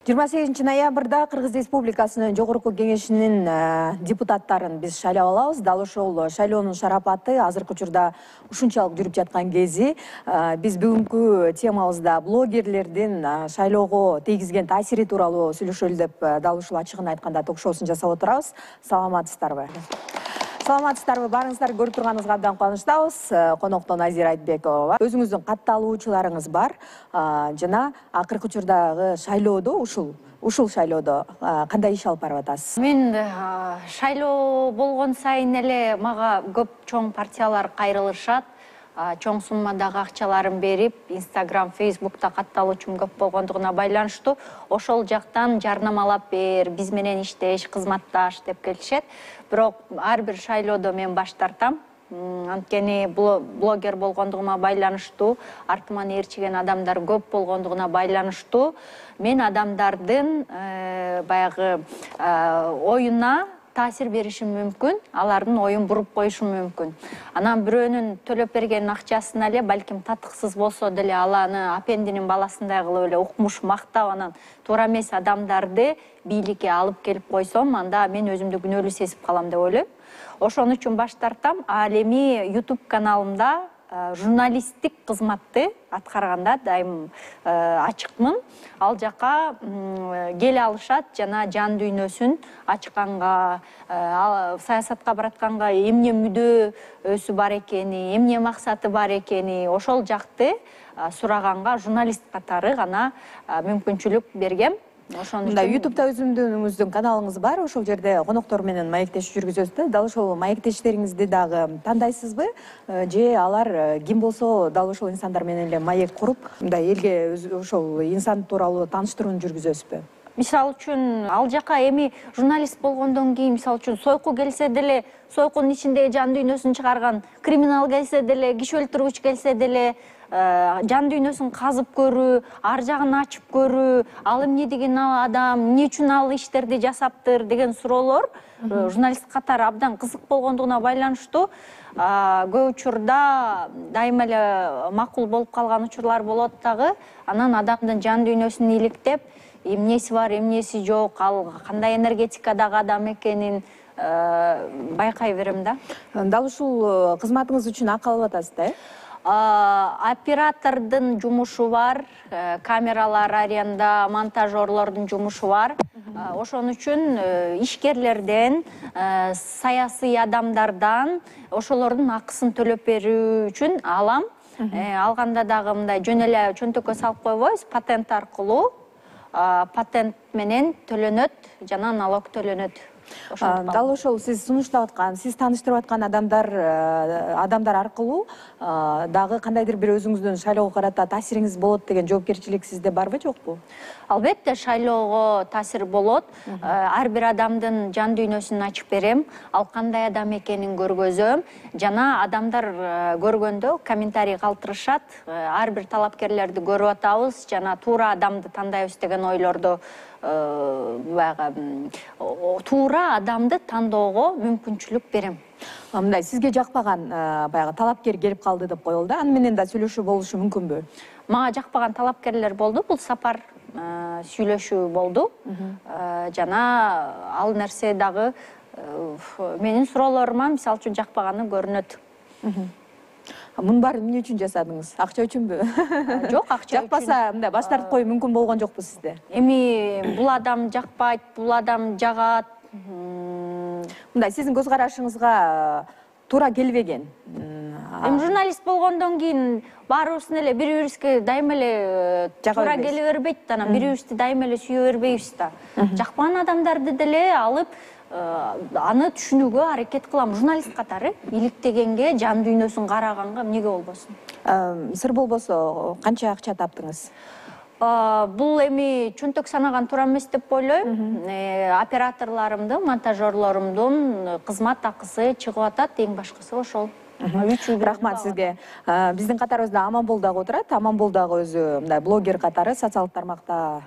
28-ноябрда Кыргыз Республикасынын Жогорку Кеңешинин депутаттарын биз шайлап алабыз. Дал ошол шайлоонун шарапаты азыркы учурда ушунчалык жүрүп жаткан кези биз бүгүнкү темабызда блогерлердин шайлоого тийгизген таасири тууралуу сүйлөшөлү деп дал ушул ачыгын айтканда ток-шоусун жасап отурабыз. Саламатсыздарбы? Саламатсыздарбы? Баарыңыздарды көрүп турганыбызга абдан кубанычтабыз. Конокто Назира Айтбекова. Өзүңүздүн катталуучуларыңыз бар жана акыркы учурдагы шайлоодо ушул шайлоодо кандай иш алып барып атасыз? Мен шайлоо болгон сайын эле мага көп чоң партиялар кайрылышат. Чоң суммадагы акчаларын берип, Instagram, Facebook'та катталуучум көп болгондугуна байланыштуу ошол жактан жарнамалап бер, биз менен иштеш, кызматташ деп келишет. Бирок ар бир шайлоодо мен баш тартам. Анткени блогер болгондугума байланыштуу, артыман ээрчиген адамдар көп болгондугуна байланыштуу мен адамдардын баягы оюна таасир беришим мүмкүн, алардын оюн буруп коюшум мүмкүн. Анан бирөөнүн төлөп берген акчасын эле балким татыксыз болсо деле аланы апендинин баласындай кылып эле укмуш мактап анан туура эмес адамдарды бийликке алып келип койсом, анда мен өзүмдү күнөөлүү сезип калам деп ойлойм. Ошон үчүн баш тартам. Ал эми YouTube каналымда журналисттик кызматты аткарганда дайым ачыкмын. Ал жака келе алышат жана жан дүйнөсүн ачканга, саясатка баратканга эмне мүдөөсү бар экени, эмне максаты бар экени, ошол жакты сураганга журналист катары гана мүмкүнчүлүк бергем. Мындай YouTube'да өзүңүздүн каналыңыз бар, ошол жерде коноктор менен маектешип жүргүзөсүз да. Дал ошол маектештериңизди дагы тандайсызбы? Же алар ким болсо дал ошол инсандар менен эле маек куруп, мындай элге ошол инсан тууралуу тааныштырууну жүргүзөсүзбү? Мисалы үчүн, ал жака эми журналист болгондон кийин, мисалы үчүн, сойку келсе деле, сойкунун ичиндеги жан дүйнөсүн чыгарган криминал келсе деле, киши өлтүргүч келсе деле, жан дүйнөсүн казып көрүү, ар жагын ачып көрүү, ал эмне деген адам, эмне үчүн ал иштерди жасаптыр деген суроолор журналист катары абдан кызык болгондугуна байланыштуу көп учурда дайыма эле макул болуп калган учурлар болот дагы. Анан адамдын жан дүйнөсүн иликтеп, эмнеси бар, эмнеси жок, ал кандай энергетикадагы адам экенин байкай берем да. Дал ушул кызматыңыз үчүн акы алып атасыз да, Оператордун жумушу бар, камералар аренда, монтажерлордун жумушу бар. Ошон үчүн ишкерлерден, саясий адамдардан ошолордун акысын төлөп берүү үчүн алам. Алганда дагы мындай жөн эле чөнтөккө салып койбойбуз, патент аркылуу. Патент менен төлөнөт жана налог төлөнөт. Дал ошол сиз сунуштап аткан, сиз тааныштырып аткан адамдар аркылуу дагы кандайдыр бир өзүңүздүн шайлоого карата таасириңиз болот деген жоопкерчилик сизде барбы, жокпу? Албетте шайлоого таасир болот. Ар бир адамдын жан дүйнөсүн ачып берем, ал кандай адам экенин көргөзөм жана адамдар көргөндө комментарий калтырышат. Ар бир талапкерлерди көрүп атабыз жана туура адамды тандайбыз деген ойлорду туура адамды тандоого мүмкүнчүлүк берем. Мындай сизге жакпаган баягы талапкер келип калды деп коелу да, аны менен да сүйлөшүү болушу мүмкүнбү? Мага жакпаган талапкерлер болду, бул сапар сүйлөшүү болду. Жана ал нерсе дагы менин суроолорума мисалы үчүн жакпаганы көрүнөт. Мунун баарын эмне үчүн жасадыңыз? Акча үчүнбү? Жок, акча үчүн. Жакпаса, мындай баш тартып коюу мүмкүн болгон жокпу сизде? Эми бул адам жакпайт, бул адам жагат. Мындай сиздин көз карашыңызга туура келбеген. Эми журналист болгондон кийин баарыбыздын эле бири-бирибизге дайыма эле туура келе бербейт, анан бири-бирибизди дайыма эле сүйө бербейбиз да. Жакпаган адамдарды деле алып аны түшүнүүгө аракет кылам. Журналист катары иликтегенге, жан дүйнөсүн караганга эмнеге болбосун? Сыр болбосо канча акча таптыңыз? Бул эми чөнтөк санаган туура эмес деп ойлойм. Операторлорумдун, монтажерлорумдун кызмат акысы чыгып атат, эң башкысы ошол. Рахмат сизге. Биздин катарыбызда Аманбол дагы отурат. Аманбол дагы өзү мындай блогер катары социалдык тармакта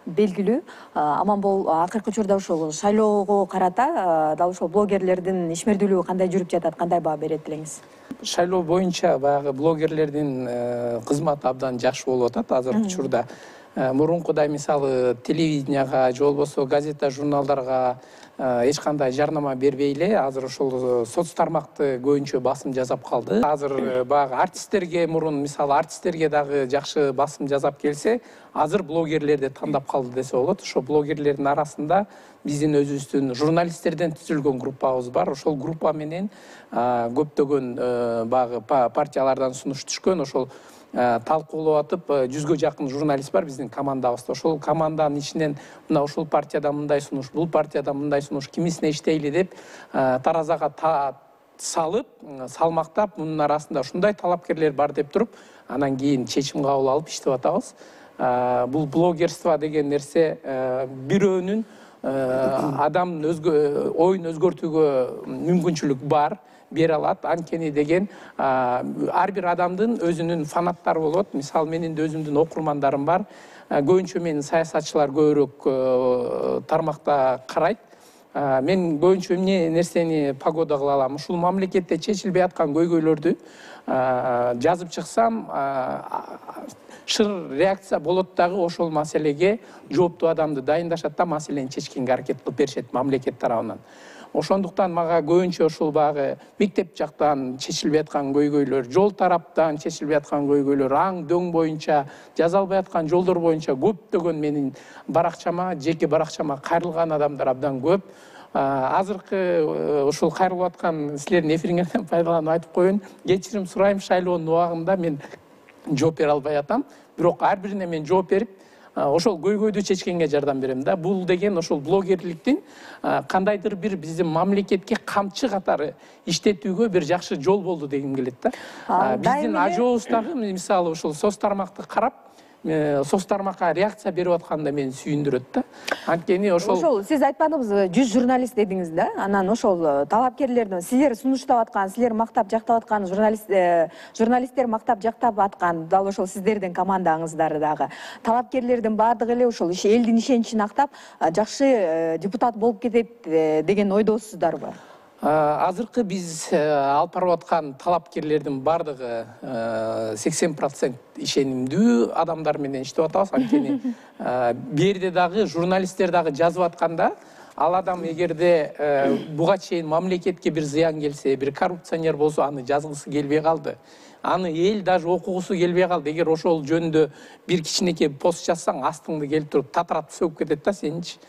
белгилүү. Аманбол акыркы учурда ушул шайлоого карата дал ушул блогерлердин ишмердүүлүгү кандай жүрүп жатат, кандай баа берет элеңиз? Шайлоо боюнча баягы блогерлердин кызматы абдан жакшы болуп атат азыркы учурда. мурункудай мисалы телевиденияга же болбосо газета журналдарга эч кандай жарнама бербей эле азыр ошол соц тармакты көбүнчө басым жасап калды. Азыр баягы артисттерге мурун мисалы артисттерге дагы жакшы басым жасап келсе, азыр блогерлерди тандап калды десе болот. Ошо блогерлердин арасында биздин өзүбүздүн журналисттерден түзүлгөн группабыз бар. Ошол группа менен көптөгөн баягы партиялардан сунуш түшкөн. Ошол талкуулап атып 100гө жакын журналист бар биздин командабызда. Ошол команданын ичинен мына ушул партияда мындай сунуш, бул партияда мындай сунуш, кимисине иштейли деп таразага салып, салмактап, мунун арасында ушундай талапкерлер бар деп туруп, анан кийин чечим кабыл алып иштеп атабыз. Бул блогерство деген нерсе бирөөнүн адамдын оюн өзгөртүүгө мүмкүнчүлүк бар, бере алат. Анткени деген ар бир адамдын өзүнүн фанаттары болот. Мисалы менин да өзүмдүн окурмандарым бар. Көбүнчө менин саясатчылар көбүрөөк тармакта карайт. Мен көбүнчө эмне нерсени погода кыла алам? Ушул мамлекетте чечилбей аткан көйгөйлөрдү жазып чыксам, шыр реакция болот дагы ошол маселеге жооптуу адамды дайындашат да маселени чечкенге аракет кылып беришет мамлекет тарабынан. Ошондуктан мага көбүнчө ушул багы мектеп жактан чечилбей аткан көйгөйлөр, жол тараптан чечилбей аткан көйгөйлөр, аң дөң боюнча, жаза албай аткан жолдор боюнча көптөгөн менин баракчама, жеке баракчама кайрылган адамдар абдан көп. Азыркы ушул кайрылып аткан силердин эфириңерден пайдаланып айтып коеюн. Кечирим сурайм, шайлоонун убагында мен жооп бере албай атам. Бирок ар бирине мен жооп берип, ошол көйгөйдү чечкенге жардам берем да. Бул деген ошол блогерликтин кандайдыр бир биздин мамлекетке камчы катары иштетүүгө бир жакшы жол болду дегим келет да. Биздин ажообуз дагы мисалы ушул соц тармакты карап, соц тармакка реакция берип атканда мени сүйүндүрөт да. Анткени ошол сиз айтпадыңызбы, 100 журналист дедиңиз да. Анан ошол талапкерлердин силер сунуштап аткан, силер мактап жактап аткан журналисттер мактап жактап аткан дал ошол сиздердин командаңыздар дагы. Талапкерлердин баардыгы эле ошол элдин ишеничин актап, жакшы депутат болуп кетет деген ойдосуздарбы? Азыркы биз алып барып аткан талапкерлердин баардыгы 80% ишенимдүү адамдар менен иштеп атабыз. Анткени берде дагы журналисттер дагы жазып атканда, ал адам эгерде буга чейин мамлекетке бир зыян келсе, бир коррупционер болсо, аны жазгысы келбей калды. Аны эл даже окугусу келбей калды. Эгер ошол жөнүндө бир кичинекей пост жазсаң, астыңды келип туруп татыратып сөгүп кетет да сеничи.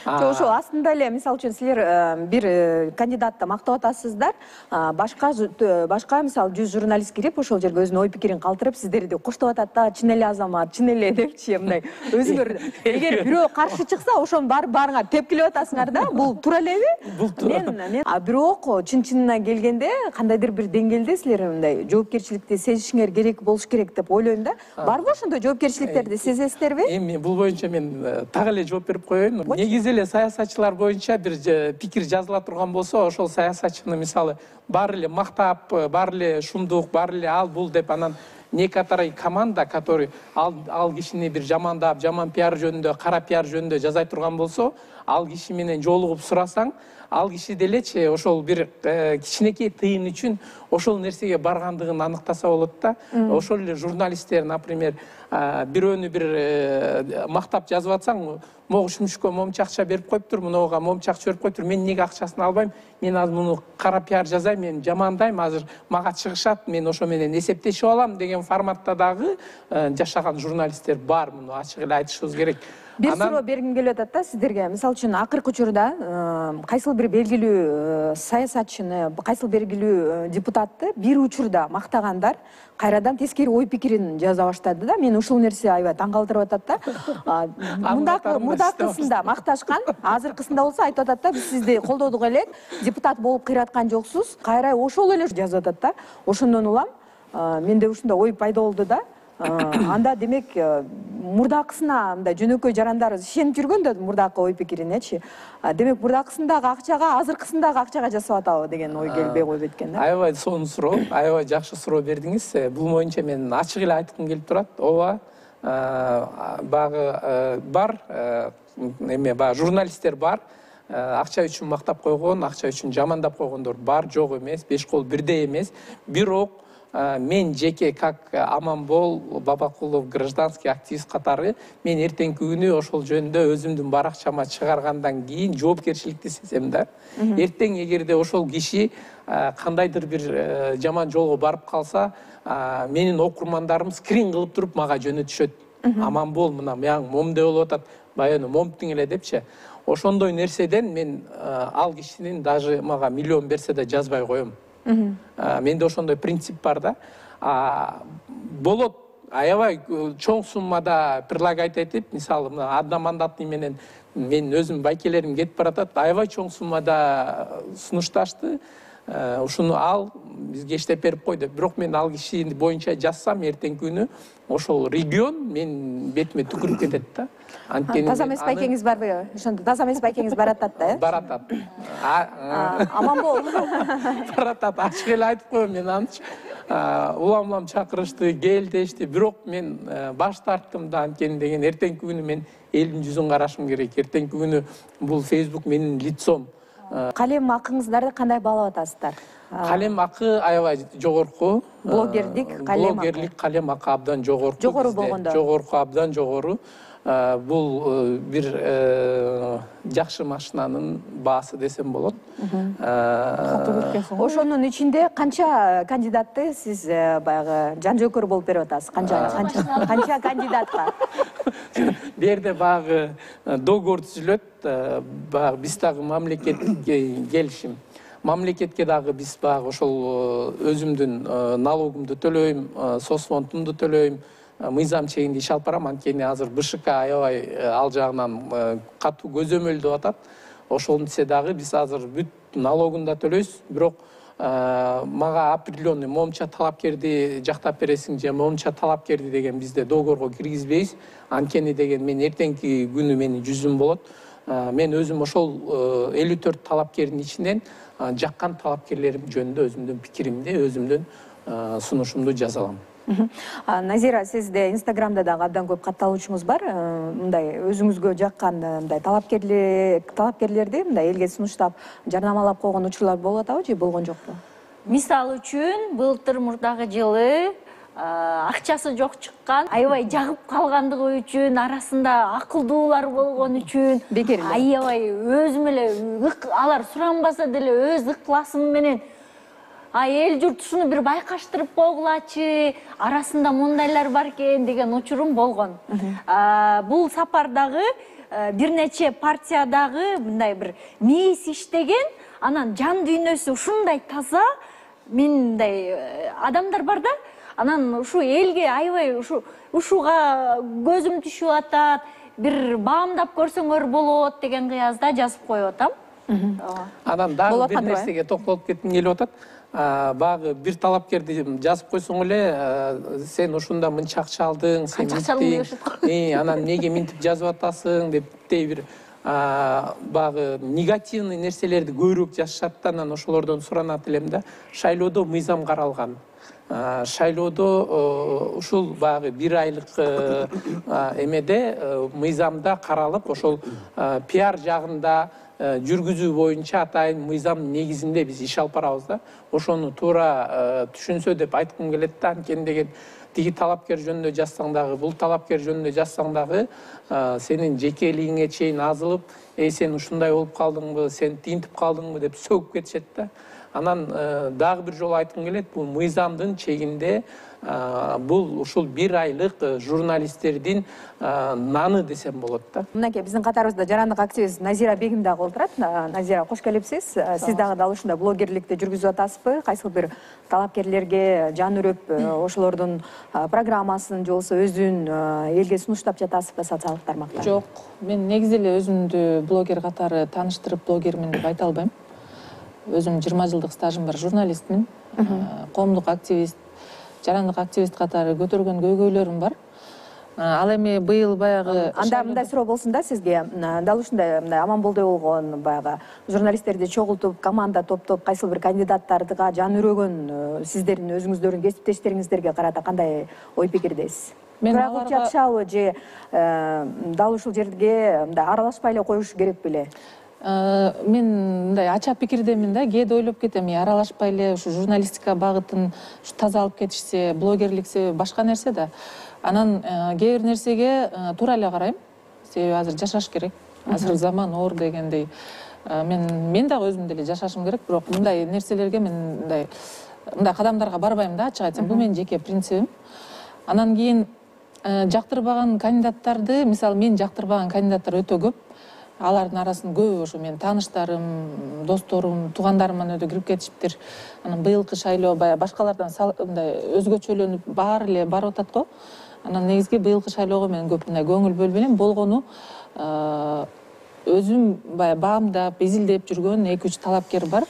Ошол астында эле, мисалы үчүн силер бир кандидатты мактап атасыздар, башка мисалы 100 журналист кирип, ошол жерге өзүнүн ой пикирин калтырып, сиздерди коштоп атат да, чын эле азамат, чын эле депчи, мындай өзүңөр эгер бирөө каршы чыкса, ошонун баарыңар тепкилеп атасыңар да. Бул туура элеби? Бул туура. Бирок чын-чынына келгенде кандайдыр бир деңгээлде силер мындай жоопкерчиликти сезишиңер керек болуш керек деп ойлойм да. Барбы ошондой жоопкерчиликтерди сезесиздерби? Эми бул боюнча мен так эле жооп берип коеюн. Негизи эле саясатчылар боюнча бир пикир жазыла турган болсо, ошол саясатчыны мисалы баары эле мактап, баары эле шумдук, баары эле ал бул деп анан некоторый команда, который ал кишини бир жамандап, жаман пиар жөнүндө, кара пиар жөнүндө жазай турган болсо, ал киши менен жолугуп сурасаң, ал киши делечи ошол бир кичинекей тыйын үчүн ошол нерсеге баргандыгын аныктаса болот да. Ошол эле журналисттер, например, бирөөнү бир мактап жазып атсаң, могу шүмүшкө момча акча берип коюптур, мынауга момча акча берип коюптур, мен эмнеге акчасын албайм, мен азыр муну кара пиар жазайм, мен жамандайм, азыр мага чыгышат, мен ошо менен эсептешип алам деген форматта дагы жашаган журналисттер бар, муну ачык эле айтышыбыз керек. Бир суроо бергим келип атат да сиздерге. Мисалы үчүн акыркы учурда кайсыл бир белгилүү саясатчыны, кайсыл белгилүү депутатты бир учурда мактагандар кайрадан тескери ой пикирин жаза баштады да. Мен ушул нерсе аябай таң калтырып атат да. Мурдакысында макташкан, азыркысында болсо айтып атат да, биз сизди колдодук элек, депутат болуп кыйраткан жоксуз, кайра ошол эле жазып атат да. Ошондон улам менде ушундай ой пайда болду да. Анда демек мурдакысына мындай жөнөкөй жарандарыбыз ишенип жүргөн да мурдакы ой пикиринечи. Демек мурдакысындагы акчага, азыркысындагы акчага жасап атабы деген ой келбей койбойт экен да. Аябай сонун суроо, аябай жакшы суроо бердиңиз. Бул боюнча мен ачык эле айткым келип турат. Ооба, багы бар, эме баягы журналисттер бар. Акча үчүн мактап койгон, акча үчүн жамандап койгондор бар, жок эмес, беш кол бирдей эмес. Бирок мен жеке как Аманбол Бабакулов гражданский активист катары мен эртеңки күнү ошол жөнүндө өзүмдүн баракчама чыгаргандан кийин жоопкерчиликти сезем да. Эртең эгерде ошол киши кандайдыр бир жаман жолго барып калса, менин окурмандарым скрин кылып туруп мага жөнөтүшөт. Аманбол мына маяң момде болуп атат, баягы момтуң эле депчи. Ошондой нерседен мен ал кишинин даже мага миллион берсе да жазбай коем. Менде ошондой принцип бар да. Болот аябай чоң суммада предлагать этип, мисалы мына одномандатный менен мен өзүм байкелерим кетип баратат, аябай чоң суммада сунушташты. Ушуну ал бизге иштеп берип кой деп. Бирок мен ал киши боюнча жазсам эртеңки күнү ошол регион мен бетиме түкүрүп кетет да. Таза эмес байкеңиз барбы? Ошондо таза эмес байкеңиз баратат да, э? Баратат. Аманбол. Баратат. Ачык эле айтып коем, мен анчы улам чакырышты, кел дешти. Бирок мен баш тарттым да, анткени деген эртеңки күнү мен элдин жүзүн карашым керек. Эртеңки күнү бул Facebook менин лицом. Калем акыңыздарды кандай баалап атасыздар? Калем акы аябай жогорку. Блогерлик калем акы. Блогерлик калем акы абдан жогорку. Жогору болгондо. Жогорку, абдан жогору. Бул бир жакшы машинанын баасы десем болот. Ошонун ичинде канча кандидатты сиз баягы жан жөөкөр болуп берип атасыз? Канча кандидатка? Бу жерде баягы договор түзүлөт. Баягы биз дагы мамлекетке келишим. Мамлекетке дагы биз баягы ошол өзүмдүн налогумду төлөйм, соцфондумду төлөйм, мыйзам чегинде иш алып барам. Анткени азыр БШК аябай ал жагынан катуу көзөмөлдөп атат. Ошондо дагы биз азыр бүт налогун да төлөйбүз, бирок мага определенный момча талапкерди жактап бересиң же момча талапкерди деген бизде договорго киргизбейбиз. Анткени деген мен эртеңки күнү менин жүзүм болот. Мен өзүм ошол 54 талапкердин ичинен жаккан талапкерлерим жөнүндө өзүмдүн пикиримди, өзүмдүн сунушумду жаза алам. Назира, сизде Инстаграмда дагы абдан көп катталуучуңуз бар. Мындай өзүңүзгө жаккан мындай талапкерлерди мындай элге сунуштап, жарнамалап койгон учурлар болуп атабы же болгон жокпу? Мисалы үчүн, былтыр мурдагы жылы акчасы жок чыккан, аябай жагып калгандыгы үчүн, арасында акылдуулар болгон үчүн, аябай өзүм эле алар суранбаса деле өз ыкласым менен эл журт ушуну бир байкаштырып койгулачы, арасында мындайлар бар экен деген учурум болгон. Бул сапардагы бир нече партиядагы мындай бир мисс иштеген, анан жан дүйнөсү ушундай таза, мындай адамдар бар да. Анан ушу элге аябай ушуга көзүм түшүп атат, бир баамдап көрсөңөр болот деген кыязда жазып коюп атам. Анан дагы бир нерсеге токтолуп кетким келип атат. Багы бир талапкерди жазып койсоң эле, сен ушунда мынча акча алдың, сен минтип, анан неге минтип жазып атасың деп бир багы негативный нерселерди көбүрөөк жазышат да. Анан ошолордон суранат элем да. Шайлоодо мыйзам каралган. Шайлоодо ушул багы бир айлык эмеде мыйзамда каралып, ошол пиар жагында жүргүзүү боюнча атайын мыйзам негизинде биз иш алып барабыз да. Ошону туура түшүнсө деп айткым келет да. Анткени деген тиги талапкер жөнүндө жазсаң дагы, бул талапкер жөнүндө жазсаң дагы сенин жекелигиңе чейин азылып, сен ушундай болуп калдыңбы, сен тинтип калдыңбы деп сөгүп кетишет да. Анан дагы бир жолу айткым келет, бул мыйзамдын чегинде бул ушул бир айлык журналисттердин наны десем болот да. Мынакей биздин катарыбызда жарандык активист Назира Бегим дагы отурат. Назира, кош келипсиз. Сиз дагы дал ушундай блогерликти жүргүзүп атасызбы? Кайсы бир талапкерлерге жан үрүп, ошолордун программасын же болбосо өзүн элге сунуштап жатасызбы социалдык тармакта? Жок, мен негизи эле өзүмдү блогер катары тааныштырып блогермин деп айта албайм. Өзүм 20 жылдык стажым бар, журналистмин, коомдук активист, жарандык активист катары көтөргөн көйгөйлөрүм бар. Ал эми быйыл баягы анда мындай суроо болсун да сизге. Дал ушундай Аманболдой болгон баягы журналисттерди чогултуп, команда топтоп, кайсы бир кандидаттарга жан үрөгөн сиздердин өзүңүздөрдүн кесиптештериңиздерге карата кандай ой пикирдесиз? Тууралып жатышабы же дал ушул жерге аралашпай эле коюш керек беле? Мен мындай ача пикирдемин да, кээде ойлоп кетем, аралашпай эле ушу журналистика багытын таза алып кетишсе, блогерлик себеби башка нерсе да. Анан кээ бир нерсеге туура эле карайм. Себеби азыр жашаш керек. Азыр заман оор дегендей. Мен дагы өзүм деле жашашым керек, бирок мындай нерселерге мен мындай кадамдарга барбайм да, ачык айтсам. Бул менин жеке принцибим. Анан кийин жактырбаган кандидаттарды, мисалы мен жактырбаган кандидаттар өтө көп. Алардын арасында көбү ошо менин тааныштарым, досторум, туугандарым өтө кирип кетишиптир. Анан быйылкы шайлоо баягы башкалардан мындай өзгөчөлөнүп баары эле барып атат го. Анан негизги быйылкы шайлоого мен көп мындай көңүл бөлүп элем. Болгону өзүм баягы баамдап, изилдеп жүргөн 2-3 талапкер бар.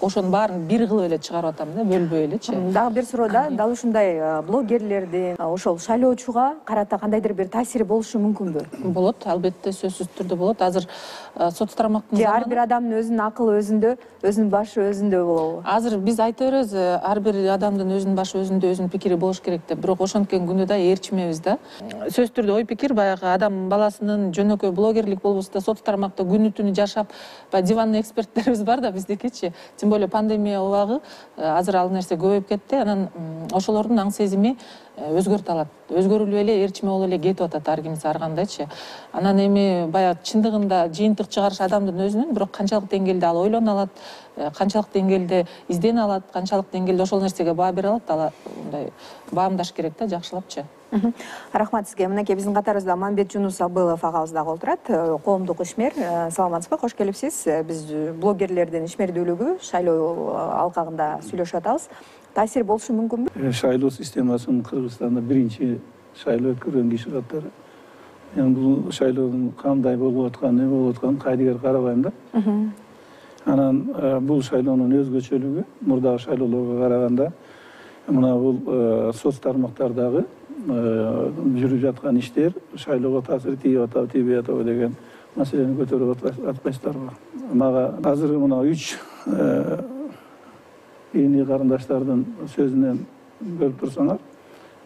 Ошонун баарын бир кылып эле чыгарып атам да, бөлбөй элечи. Дагы бир суроо дал ушундай блогерлердин ошол шайлоочуга карата кандайдыр бир таасири болушу мүмкүнбү? Болот, албетте, сөзсүз түрдө болот. Азыр соц тармактын же ар бир адамдын өзүнүн акылы өзүндө, өзүнүн башы өзүндө болобу? Азыр биз айта беребиз, ар бир адамдын өзүнүн башы өзүндө, өзүнүн пикири болуш керек деп. Бирок ошенткен күндө да ээрчимебиз да. Сөзсүз түрдө ой пикир баягы адам баласынын жөнөкөй блогерлик болбосо да соц тармакта күнү түнү жашап, баягы диванный эксперттерибиз бар да биздикичи. Тем более пандемия убагы азыр ал нерсе көбөйүп кетти. Анан ошолордун аң сезими өзгөртө алат. Өзгөрүлүп эле ээрчиме болуп эле кетип атат ар кимиси ар кандайчы. Анан эми баягы чындыгында жыйынтык чыгарыш адамдын өзүнүн, бирок канчалык деңгээлде ал ойлоно алат, канчалык деңгээлде издене алат, канчалык деңгээлде ошол нерсеге баа бере алат, ал мындай баамдаш керек да, жакшылапчы. Рахмат сизге. Мынакей биздин катарыбызда Мамбет Жунус Абылов агабыз дагы отурат, коомдук ишмер. Саламатсызбы, кош келипсиз. Биз блогерлердин ишмердүүлүгү шайлоо алкагында сүйлөшүп атабыз. Таасир болушу мүмкүнбү? Шайлоо системасынын Кыргызстанда биринчи шайлоо өткөргөн киши катары. Мен бул шайлоонун кандай болуп атканын, эмне болуп атканын кайдыгер карабайм да. Анан бул шайлоонун өзгөчөлүгү мурдагы шайлоолорго караганда мына бул соц тармактардагы жүрүп жаткан иштер шайлоого таасир тийип атабы, тийбей атабы деген маселени көтөрүп атпайсыздарбы? Мага азыр мына 3 ийни карындаштардын сөзүнөн көрүп турсаңар,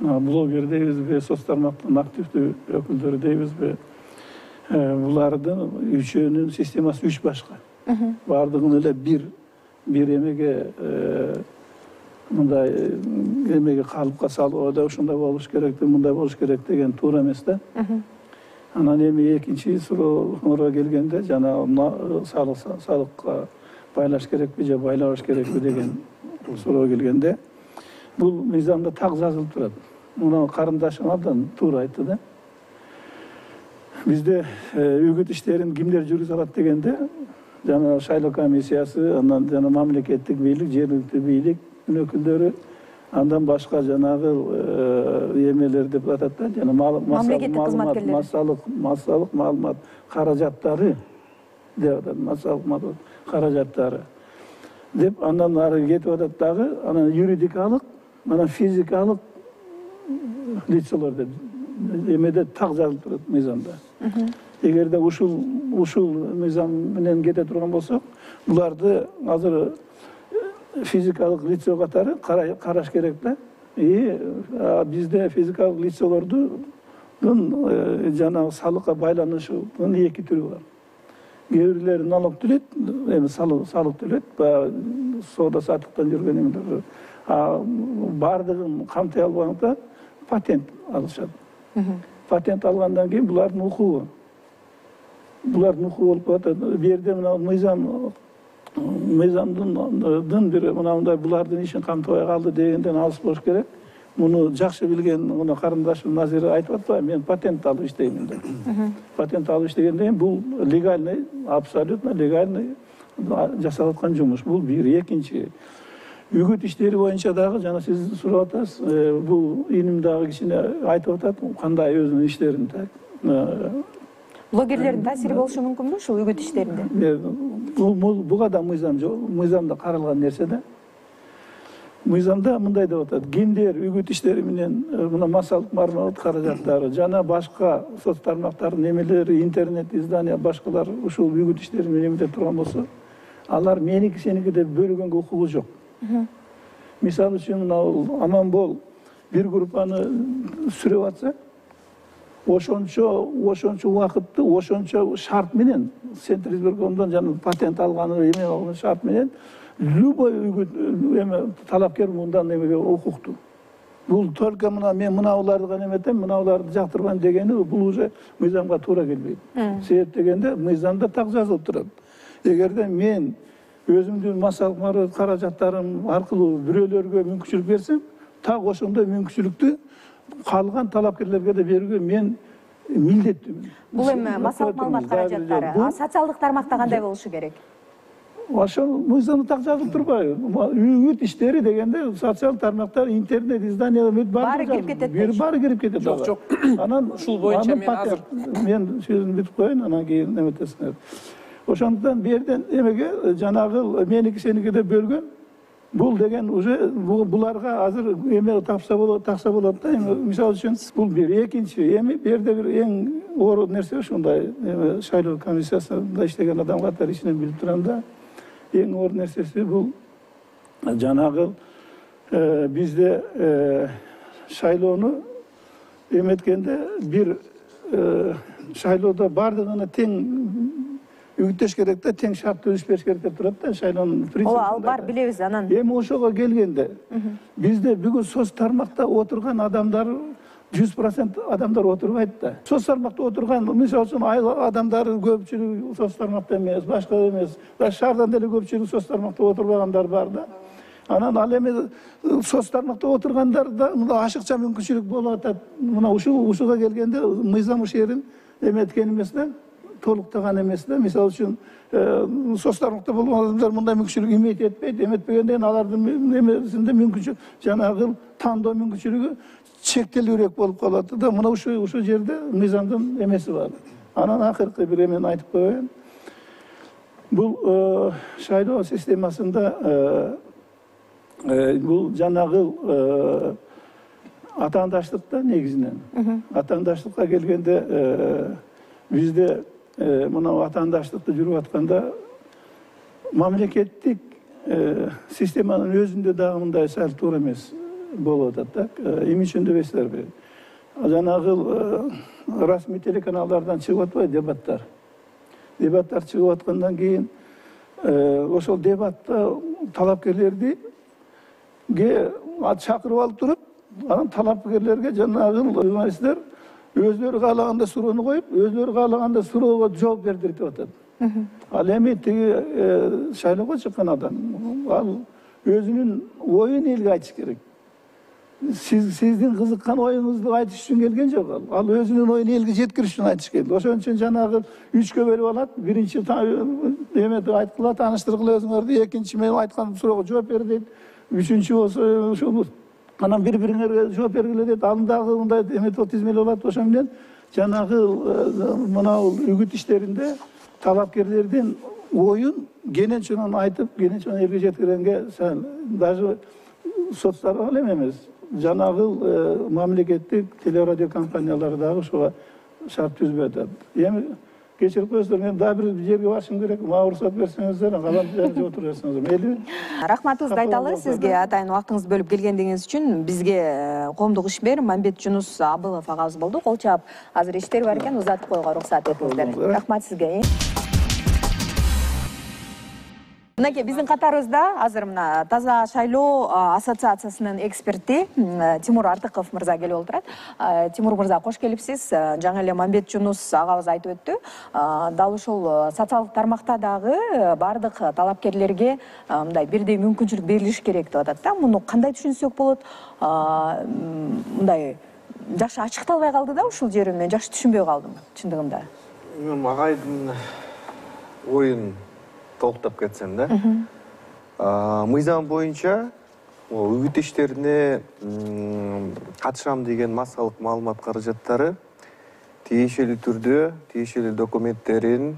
блогер дейбизби, соц тармактын активдүү өкүлдөрү дейбизби, булардын үчөөнүн системасы 3 башка. Бардыгын эле бир эмеге мындай эмеге калыпка салып, ушундай болуш керек, мындай болуш керек деген туура эмес да. Анан эми экинчи суроого келгенде, жана салыкка байлаш керекпи же байлабаш керекпи деген суроо келгенде, бул мыйзамда так жазылып турат. Муну карындашым абдан туура айтты да. Бизде үгүт иштерин кимдер жүргүзө алат дегенде, жана шайлоо комиссиясы, андан жана мамлекеттик бийлик, жергиликтүү бийлик өкүлдөрү, андан башка жанагы эмелер деп атат да, жана мамлекеттик кызматкерлер, массалык маалымат каражаттары деп атат, массалык каражаттары деп андан ары кетип атат дагы, анан юридикалык, анан физикалык лицолор деп эмеде так жазылып турат мыйзамда. Эгерде ушул мыйзам менен кете турган болсок, буларды азыр физикалык лицо катары караш керек да. Бизде физикалык лицолордун жана салыкка байланышынын 2 түрү бар. Кээ бирлери налог төлөйт, эми салык төлөйт, соода саттыктан жүргөн эмелер. Бардыгын камтый албаганда патент алышат. Патент алгандан кийин булардын укугу болуп калат. Бу жерде мына мыйзамдын бир мындай булардын ишин камтыбай калды дегенден алыс болуш керек. Муну жакшы билген мына карындашым Назира айтып атпайбы, мен патент алып иштеймин деп. Патент алып иштегенден кийин бул легальный, абсолютно легальный жасалып аткан жумуш. Бул бир. Экинчи, үгүт иштери боюнча дагы жана сиз сурап атасыз, бул иним дагы кичине айтып атат, кандай өзүнүн иштерин блогерлердин таасири болушу мүмкүнбү ушул үгүт иштеринде? Буга да мыйзамда каралган нерсе да. Мыйзамда мындай деп атат: кимдер үгүт иштери менен мына массалык маалымат каражаттары жана башка соц тармактардын эмелери, интернет издания, башкалар ушул үгүт иштери менен эмете турган болсо, алар меники сеники деп бөлгөнгө укугу жок. Мисалы үчүн мына Аманбол бир группаны сүрөп атса, ошончо убакытты ошончо шарт менен Центризбиркомдон жана патент алганы эме алган шарт менен любой эме талапкер мындан эмеге укуктуу. Бул только мен мынауларды гана эметем, мынауларды жактырбайм дегени бул уже мыйзамга туура келбейт. Себеп дегенде мыйзамда так жазылып турат. Эгерде мен өзүмдүн массалык каражаттарым аркылуу бирөөлөргө мүмкүнчүлүк берсем, так ошондой мүмкүнчүлүктү калган талапкерлерге да берүүгө мен милдеттүүмүн. Бул эми массалык маалымат каражаттары социалдык тармакта кандай болушу керек? Ошол мыйзамда так жазылып турбайбы? Үгүт иштери дегенде социалдык тармактар, интернет, издание баары кирип кетет. Баары кирип кетет. Жок. Анан ушул боюнча мен азыр мен сөзүмдү бүтүп коеюн, анан кийин эметесиңер. Ошондуктан бу жерден эмеге жанагы меники сеники деп бөлгөн. Бул деген уже буларга азыр эме такса болот да. Мисалы үчүн бул бир, экинчи эми бу жерде бир эң оор нерсе ушундай эме шайлоо комиссиясында иштеген адам катары ичинен билип турам да. Эң оор нерсеси бул жанагы бизде шайлоону эметкенде бир шайлоодо бардыгына тең үгүттөш керек да, тең шарт түзүш бериш керек деп турат да шайлоонун принципи. Ооба, ал бар, билебиз анан. Эми ошого келгенде бизде бүгүн соц тармакта отурган адамдар 100% адамдар отурбайт да. Соц тармакта отурган, мисалы үчүн адамдар көпчүлүгү соц тармакта эмес, башка эмес. Шаардан деле көпчүлүгү соц тармакта отурбагандар бар да. Анан ал эми соц тармакта отургандарда мына ашыкча мүмкүнчүлүк болуп атат. Мына ушуга келгенде мыйзам ушул жерин эметкен эмес да, толуктаган эмес да. Мисалы үчүн соц тармакта болгон адамдар мындай мүмкүнчүлүк эметпейт. Эметпегенден алардын эмесинде мүмкүнчүлүк жанагы тандоо мүмкүнчүлүгү чектелүүрөөк болуп калат да. Мына ушул жерде мыйзамдын эмеси бар. Анан акыркы бир эмени айтып коеюн. Бул шайлоо системасында бул жанагы атаандаштыкта негизинен. Атаандаштыкка келгенде бизде мына атаандаштыкты жүрүп атканда мамлекеттик системанын өзүндө дагы мындай сал туура эмес болуп атат да. Эмне үчүн дебейсиздерби? Жанагы расмий телеканалдардан чыгып атпайбы дебаттар. Дебаттар чыгып аткандан кийин ошол дебатта талапкерлерди чакырып алып туруп, анан талапкерлерге жанагы журналисттер өзлөрү каалаганда суроону коюп, өзлөрү каалаганда суроого жооп бердирip атат. Ал эми тиги шайлоого чыккан адам, ал өзүнүн оюн элге айтыш керек. Сиздин кызыккан оюңузду айтыш үчүн келген жок ал. Ал өзүнүн оюн элге жеткириш үчүн айтыш келди. Ошон үчүн жанагы 3кө бөлүп алат. Биринчи эметип айткыла, тааныштыргыла өзүңөрдү, экинчи мен айткан суроого жооп бер дейт. Үчүнчү болсо ушул анан бири-бириңерге жооп бергиле дейт. Аны дагы мындай эметип тизмелеп алат. Ошон менен жанагы мына үгүт иштеринде талапкерлердин оюн кененчен айтып, кененчен элге жеткиргенге даже соцтарга эле эмес, жанагы мамлекеттик телерадио компаниялары дагы ушуга шарт түзбөй атат. Эми кечирип коесуздар, мен дагы бир жерге барышым керек. Мага уруксат берсеңиздер, калам жерде отуруп жатсаңыздар. Мейли. Рахматыбызды айталы сизге атайын убактыңызды бөлүп келгендигиңиз үчүн. Бизге коомдук ишмер Мамбет Жунус Абылов агабыз болду. Кол чаап азыр иштери бар экен, узатып коюуга уруксат этиңиздер. Рахмат сизге. Мынакей биздин катарыбызда азыр мына Таза шайлоо ассоциациясынын эксперти Тимур Артыков мырза келип отурат. Тимур мырза, кош келипсиз. Жаңы эле Мамбет Жунус агабыз айтып өттү. Дал ушул социалдык тармакта дагы бардык талапкерлерге мындай бирдей мүмкүнчүлүк берилиш керек деп атат да. Муну кандай түшүнсөк болот? Мындай жакшы ачыкталбай калды да ушул жерин мен жакшы түшүнбөй калдым чындыгында. Мен агайдын оюн толуктап кетсем да. Мыйзам боюнча үгүт иштерине катышам деген массалык маалымат каражаттары тиешелүү түрдө тиешелүү документтерин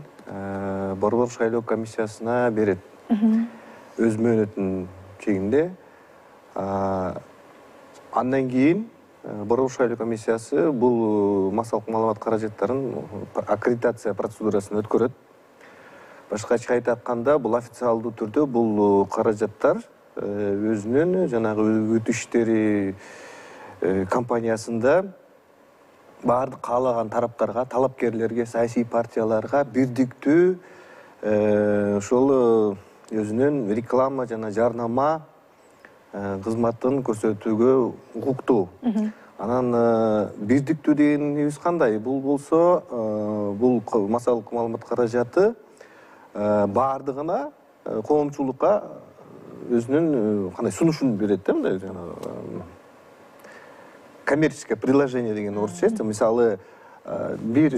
Борбор шайлоо комиссиясына берет. Өз мөөнөтүнүн чегинде. Андан кийин Борбор шайлоо комиссиясы бул массалык маалымат каражаттарын аккредитация процедурасын өткөрөт. Башкача айтканда, бул официалдуу түрдө бул каражаттар өзүнүн жанагы үгүт иштери компаниясында баардык каалаган тараптарга, талапкерлерге, саясий партияларга бирдиктүү ошол өзүнүн реклама жана жарнама кызматын көрсөтүүгө укуктуу. Анан бирдиктүү дегенибиз кандай? Бул болсо, бул массалык маалымат каражаты баардыгына коомчулукка өзүнүн кандай сунушун берет да, мындай коммерческое предложение деген орусча. Мисалы, бир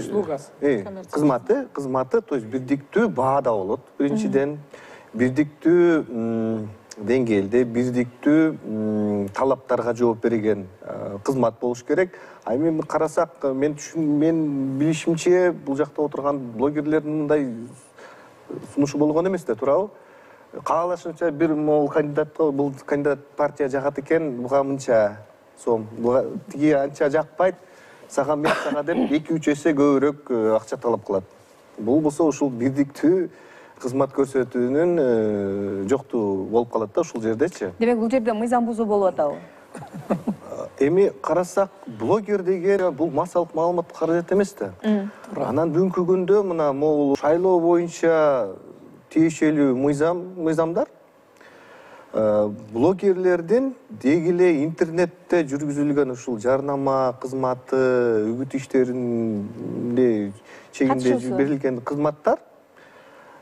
кызматы, то есть бирдиктүү баада болот. Биринчиден, бирдиктүү деңгээлде, бирдиктүү талаптарга жооп берген кызмат болуш керек. Эми карасак, мен билишимче бул жакта отурган блогерлердин мындай сунушу болгон эмес да, туурабы? Каалашынча бир могул кандидатка, бул кандидат партия жагат экен, буга мынча сом, тиги анча жакпайт, мен сага деп 2-3 эсе көбүрөөк акча талап кылат. Бул болсо ушул бирдиктүү кызмат көрсөтүүнүн жоктугу болуп калат да ушул жердечи. Демек бул жерде мыйзам бузуу болуп атабы? Эми карасак, блогер деген бул массалык маалымат каражат эмес да. Анан бүгүнкү күндө мына могул шайлоо боюнча тиешелүү мыйзамдар блогерлердин деги эле интернетте жүргүзүлгөн ушул жарнама кызматы, үгүт иштеринде чегинде берилген кызматтар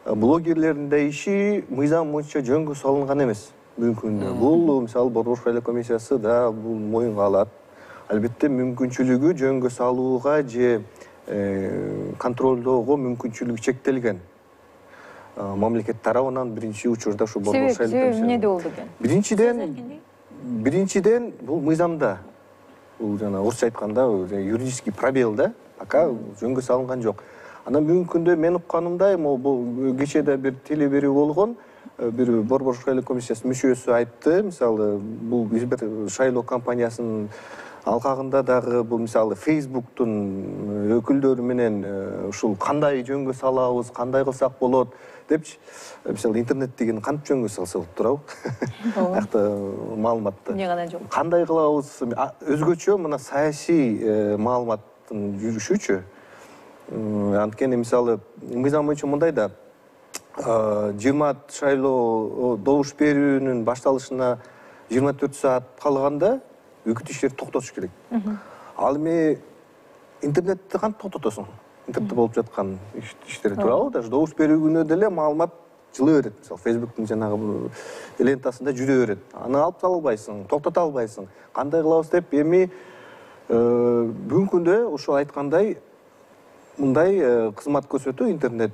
блогерлердин да иши мыйзам боюнча жөнгө салынган эмес бүгүнкү күндө. Бул мисалы Борбор шайлоо комиссиясы да бул моюнга алат. Албетте мүмкүнчүлүгү жөнгө салууга же контролдоого мүмкүнчүлүгү чектелген. Мамлекет тарабынан биринчи учурда ушу Борбор шайлоо комиссиясы. Себеби эмнеде болду экен? Биринчиден бул мыйзамда. Бул жана орусча айтканда юридический пробел да, пока жөнгө салынган жок. Анан бүгүнкү күндө мен укканымдай, бул кечээ да бир теле берүү болгон, бир Борбор шайлоо комиссиясынын мүчөсү айтты, мисалы, бул бир шайлоо кампаниясынын алкагында дагы бул мисалы Facebooktун өкүлдөрү менен ушул кандай жөнгө салабыз, кандай кылсак болот депчи, мисалы интернет деген кантип жөнгө салса болот, туурабы? Акта маалыматты. Эмне гана жок. Кандай кылабыз? Өзгөчө мына саясий маалыматтын жүрүшүчү. Анткени мисалы мыйзам боюнча мындай да, 20 шайлоо добуш берүүнүн башталышына 24 саат калганда үгүт иштерди токтотуш керек. Ал эми интернетти кантип токтотосуң? Интернетте болуп жаткан иштерди, туурабы? Даже добуш берүү күнү деле маалымат жылы берет. Мисалы Facebooktун жанагы лентасында жүрө берет. Аны алып кала албайсың, токтото албайсың. Кандай кылабыз деп эми бүгүнкү күндө ошол айткандай мындай кызмат көрсөтүү интернет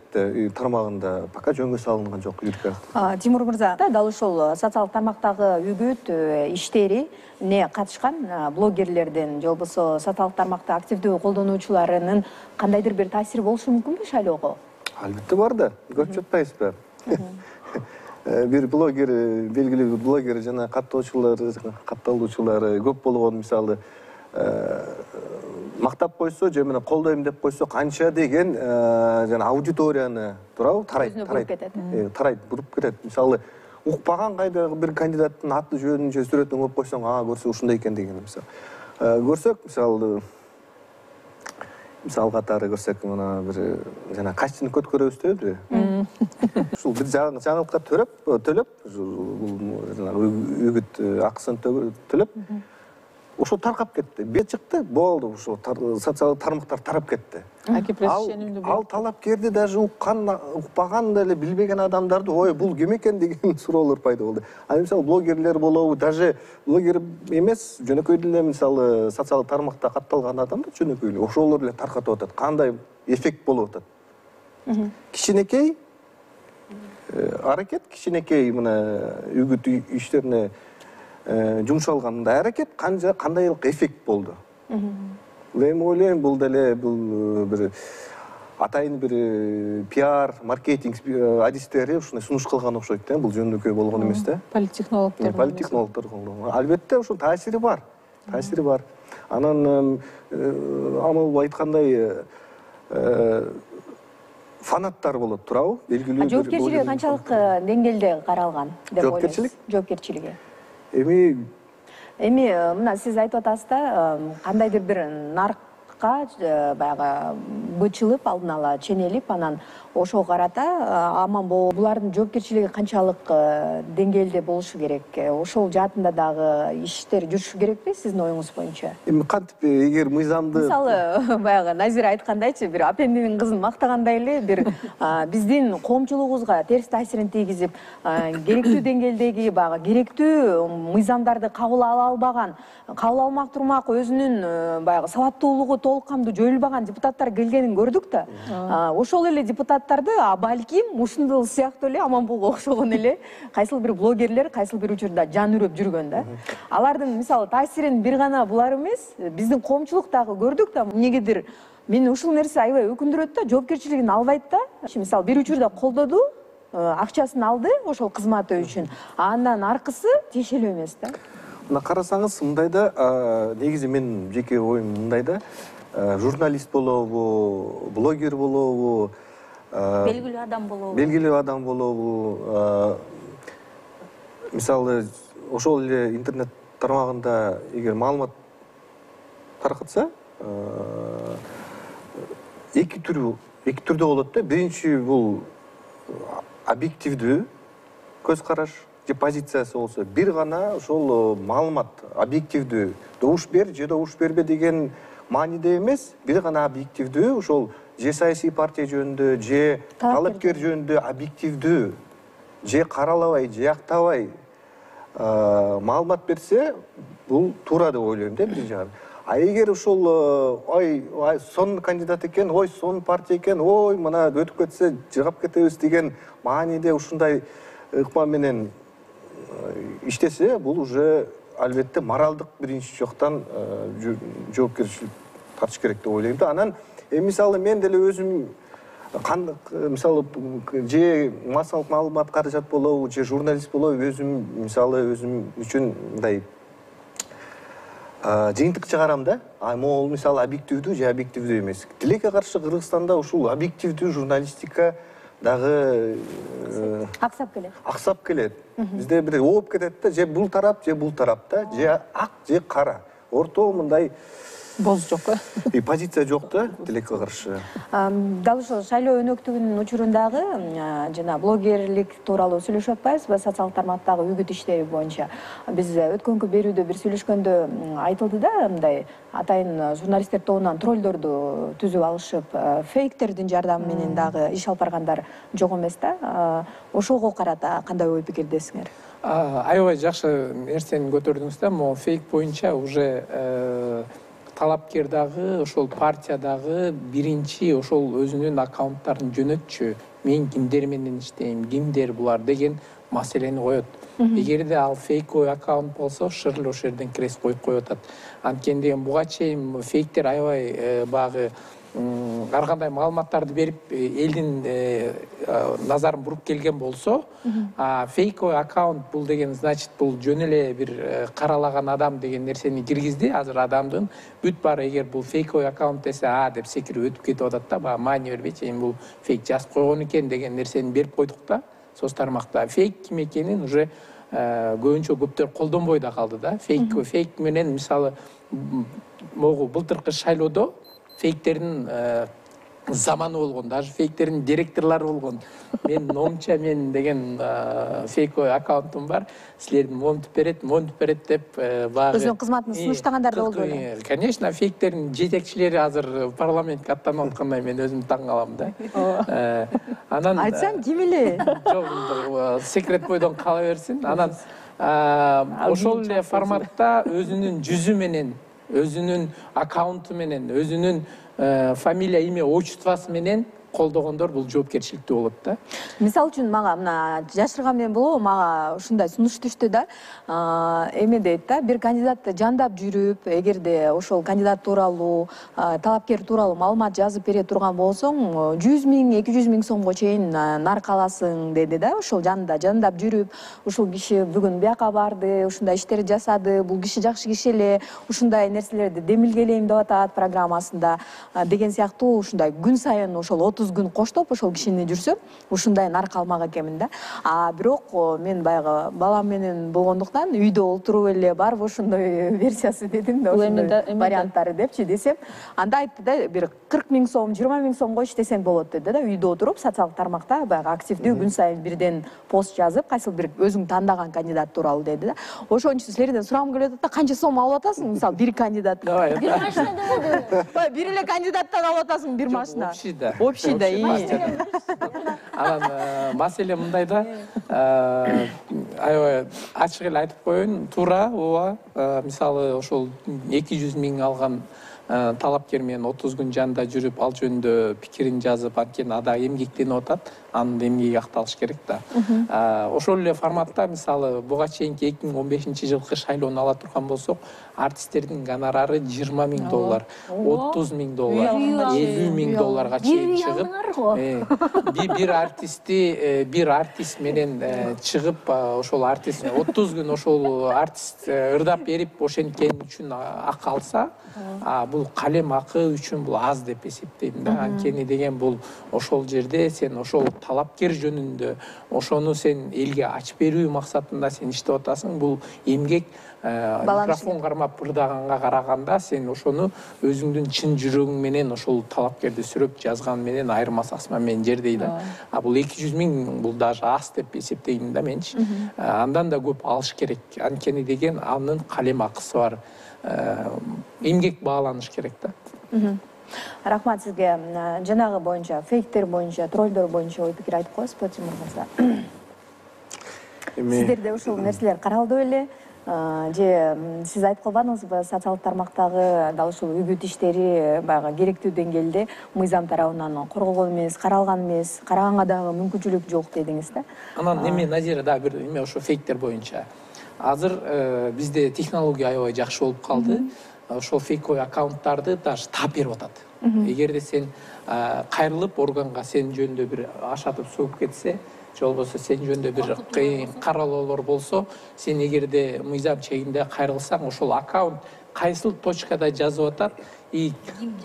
тармагында пока жөнгө салынган жок. Тимур мырза, дал ушул социалдык тармактагы үгүт иштери эмне катышкан блогерлердин же болбосо социалдык тармакты активдүү колдонуучуларынын кандайдыр бир таасири болушу мүмкүнбү шайлоого? Албетте бар да, көрүп жатпайсызбы? Бир блогер, белгилүү бир блогер жана катталуучулары көп болгон, мисалы, мактап койсо же мына колдойм деп койсо канча деген жана аудиторияны, туурабы, тарайт, буруп кетет. Мисалы, укпаган кайдагы бир кандидаттын аты жөнүн же сүрөтүн коюп койсоң, көрсө ушундай экен деген мисалы. Көрсөк, мисал катары көрсөк, мына бир жана кастинг өткөрөбүз дебиз. Ушул бир жаңылыкка төлөп, жана үгүт акысын төлөп, ошо таркап кетти. Бет чыкты, болду, ошо социалдык тармактар тарап кетти. Ал талапкерди даже укпаган деле билбеген адамдарды, ой, бул ким экен деген суроолор пайда болду. Ал мисалы блогерлер болобу, даже блогер эмес, жөнөкөй деле мисалы социалдык тармакта катталган адамдар жөнөкөй эле ошолор эле таркатып атат. Кандай эффект болуп атат? Кичинекей аракет, кичинекей мына үгүт иштерине жумшалган мындай аракет кандайлык эффект болду. Мен ойлойм, бул деле бир атайын бир пиар, маркетинг адистери ушундай сунуш кылган окшойт да, бул жөнөкөй болгон эмес да. Политтехнологдор. Албетте ошол таасири бар. Анан амал айткандай фанаттар болот, туурабы? Белгилүү. Жоопкерчилиги канчалык деңгээлде каралган деп ойлойсуз? Жоопкерчилиги. Эми мына сиз айтып атасыз да, кандайдыр бир нарк депутаттыкка баягы бычылып алдын ала ченелип анан ошого карата аман болуу булардын жоопкерчилиги канчалык деңгээлде болушу керек? Ошол жаатында дагы иштер жүрүшү керекпи сиздин оюңуз боюнча? Эми кантип эгер мыйзамды Мисалы баягы Назира айткандайчы, бир апендинин кызын мактагандай эле бир биздин коомчулугубузга терс таасирин тийгизип, керектүү деңгээлдеги баягы керектүү мыйзамдарды кабыл ала албаган, кабыл алмак турмак өзүнүн баягы сабаттуулугу толук кандуу жоюлбаган депутаттар келгенин көрдүк да. Ошол эле депутаттарды балким ушундул сыяктуу эле Аманбулга окшогон эле кайсыл бир блогерлер кайсыл бир учурда жан үрөп жүргөн да. Алардын мисалы таасирин бир гана булар эмес, биздин коомчулук дагы көрдүк да. Эмнегедир мени ушул нерсе аябай өкүндүрөт да, жоопкерчилигин албайт да. Мисалы бир учурда колдоду, акчасын алды ошол кызматы үчүн, андан аркысы тиешелүү эмес да. Мына карасаңыз мындай да, негизи менин жеке оюм мындай да, журналист болобу, блогер болобу, белгилүү адам болобу. Белгилүү адам болобу, мисалы ошол эле интернет тармагында эгер маалымат таркатса, эки түрдө болот да. Биринчи бул объективдүү көз караш же позициясы болсо, бир гана ошол маалымат объективдүү, добуш бер же добуш бербе деген мааниде эмес, бир гана объективдүү, ошол же саясий партия жөнүндө, же талапкер жөнүндө объективдүү, же каралабай, же жактабай маалымат берсе, бул туура деп ойлойм да биринчи жагы. А эгер ошол сонун кандидат экен, сонун партия экен, мына өтүп кетсе жыгап кетебиз деген мааниде ушундай ыкма менен иштесе, бул уже албетте моралдык биринчи жактан жоопкерчилик тартыш керек деп ойлойм да. Анан мисалы мен деле өзүм мисалы же массалык маалымат каражат болобу, же журналист болобу, өзүм мисалы өзүм үчүн мындай жыйынтык чыгарам да. Могул мисалы объективдүү же объективдүү эмес. Тилекке каршы Кыргызстанда ушул объективдүү журналистика дагы аксап келет. Бизде бир ооп кетет да, же бул тарап, же бул тарап да, же ак, же кара. Орто мындай боз жок. Позиция жок да, тилекке каршы. Дал ошол шайлоо өнөктүгүнүн учурундагы жана блогерлик тууралуу сүйлөшүп атпайбызбы социалдык тармактагы үгүт иштери боюнча? Биз өткөнкү берүүдө бир сүйлөшкөндө айтылды да, мындай атайын журналисттер тобунан троллдорду түзүп алышып, фейктердин жардамы менен дагы иш алып баргандар жок эмес да. Ошого карата кандай ой пикирдесиңер? Аябай жакшы нерсени көтөрдүңүз да. Могу фейк боюнча уже талапкер дагы, ошол партия дагы биринчи ошол өзүнүн аккаунттарын жөнөтчү. Мен кимдер менен иштейм, кимдер булар деген маселени коет. Эгерде ал фейковый аккаунт болсо, шырыл ошол жерден крест коюп коюп атат. Анткени деген буга чейин фейктер аябай багы ар кандай маалыматтарды берип элдин назарын буруп келген болсо, фейковый аккаунт бул деген значит бул жөн эле бир каралаган адам деген нерсени киргизди. Азыр адамдын бүт баары эгер бул фейковый аккаунт десе, деп секирип өтүп кетип атат да, бага маани бербейчи, эми бул фейк жазып койгон экен деген нерсени берип койдук да соц тармакта. Фейк ким экенин уже көбүнчө көптөр колдонбой да калды да. Фейк менен мисалы могу былтыркы шайлоодо фейктердин заманы болгон, даже фейктердин директорлору болгон. Мен номча мен деген фейковый аккаунтум бар. Силердин монтип берет деп багы Өзүнүн кызматын сунуштагандар да болду эле. Конечно, фейктердин жетекчилери азыр парламентке аттанып аткандай мен өзүм таң калам да. Анан Айтсаң ким эле? Жок, секрет бойдон кала берсин. Анан ошол эле форматта өзүнүн жүзү менен, өзүнүн аккаунту менен, өзүнүн фамилия, имя, отчествосы менен колдогондор бул жоопкерчиликтүү болот да. Мисалы үчүн мага мына жашырган менен болобу, мага ушундай сунуш түштү да. Эме дейт да, бир кандидатты жандап жүрүп, эгерде ошол кандидат тууралуу, талапкер тууралуу маалымат жазып бере турган болсоң, 100 000, 200 000 сомго чейин нарк аласың деди да. Ошол жанында жандап жүрүп, ушул киши бүгүн бияка барды, ушундай иштерди жасады, бул киши жакшы киши эле, ушундай нерселерди демилгелейм деп атат программасында деген сыяктуу ушундай күн сайын ошол 30 30 күн коштоп ошол кишини жүрсөм ушундай нарк алмак экенмин да. Бирок мен баягы балам менен болгондуктан үйдө олтуруп эле барбы ошондой версиясы дедим да, ошондой варианттары депчи десем, анда айтты да, бир 40 000 сом, 20 000 сом койчу десең болот деди да. Үйдө отуруп социалдык тармакта баягы активдүү күн сайын бирден пост жазып, кайсыл бир өзүң тандаган кандидат тууралуу деди да. Ошон үчүн силерден сурагым келип атат да, канча сом алып атасың мисалы бир кандидат? Бир машина болду. Бир эле кандидаттан алып атасың бир машина. Общий да. Анан маселе мындай да, аябай ачык эле айтып коеюн, туура, ооба. Мисалы ошол 200 000 алган талапкер менен 30 күн жанында жүрүп, ал жөнүндө пикирин жазып, анткени ада эмгектенип атат, анын эмгеги акталыш керек да. Ошол эле форматта мисалы буга чейинки 2015-жылкы шайлоону ала турган болсок, артисттердин гонорары $20 000, $30 000, $50 000 чейин чыгып, бир артист менен чыгып, ошол артист 30 күн ошол артист ырдап берип ошенткени үчүн акы алса, бул калем акы үчүн бул аз деп эсептейм да. Анткени деген бул ошол жерде сен ошол талапкер жөнүндө ошону сен элге ачып берүү максатында сен иштеп атасың. Бул эмгек микрофон кармап ырдаганга караганда сен ошону өзүңдүн чын жүрөгүң менен ошол талапкерди сүрөп жазган менен айырмасы асман менен жердей да. Бул 200 000 бул даже аз деп эсептейм да менчи. Андан да көп алыш керек. Анткени деген анын калем акысы бар. Эмгек бааланыш керек да. Рахмат сизге. Жанагы боюнча, фейктер боюнча, троллдор боюнча ой пикир айтып коесузбу, Тимур мырза? Сиздерде ушул нерселер каралды беле? Же сиз айтып калбадыңызбы, социалдык тармактагы дал ушул үгүт иштери баягы керектүү деңгээлде мыйзам тарабынан корголгон эмес, каралган эмес, караганга дагы мүмкүнчүлүк жок дедиңиз да. Анан Назира да бир эме ошо фейктер боюнча. Азыр бизде технология аябай жакшы болуп калды. Ошол фейковый аккаунттарды даже таап берип атат. Эгерде сен кайрылып органга сен жөнүндө бир ашатып сөгүп кетсе, же болбосо сен жөнүндө бир кыйын каралоолор болсо, сен эгерде мыйзам чегинде кайрылсаң, ошол аккаунт кайсыл точкада жазып атат и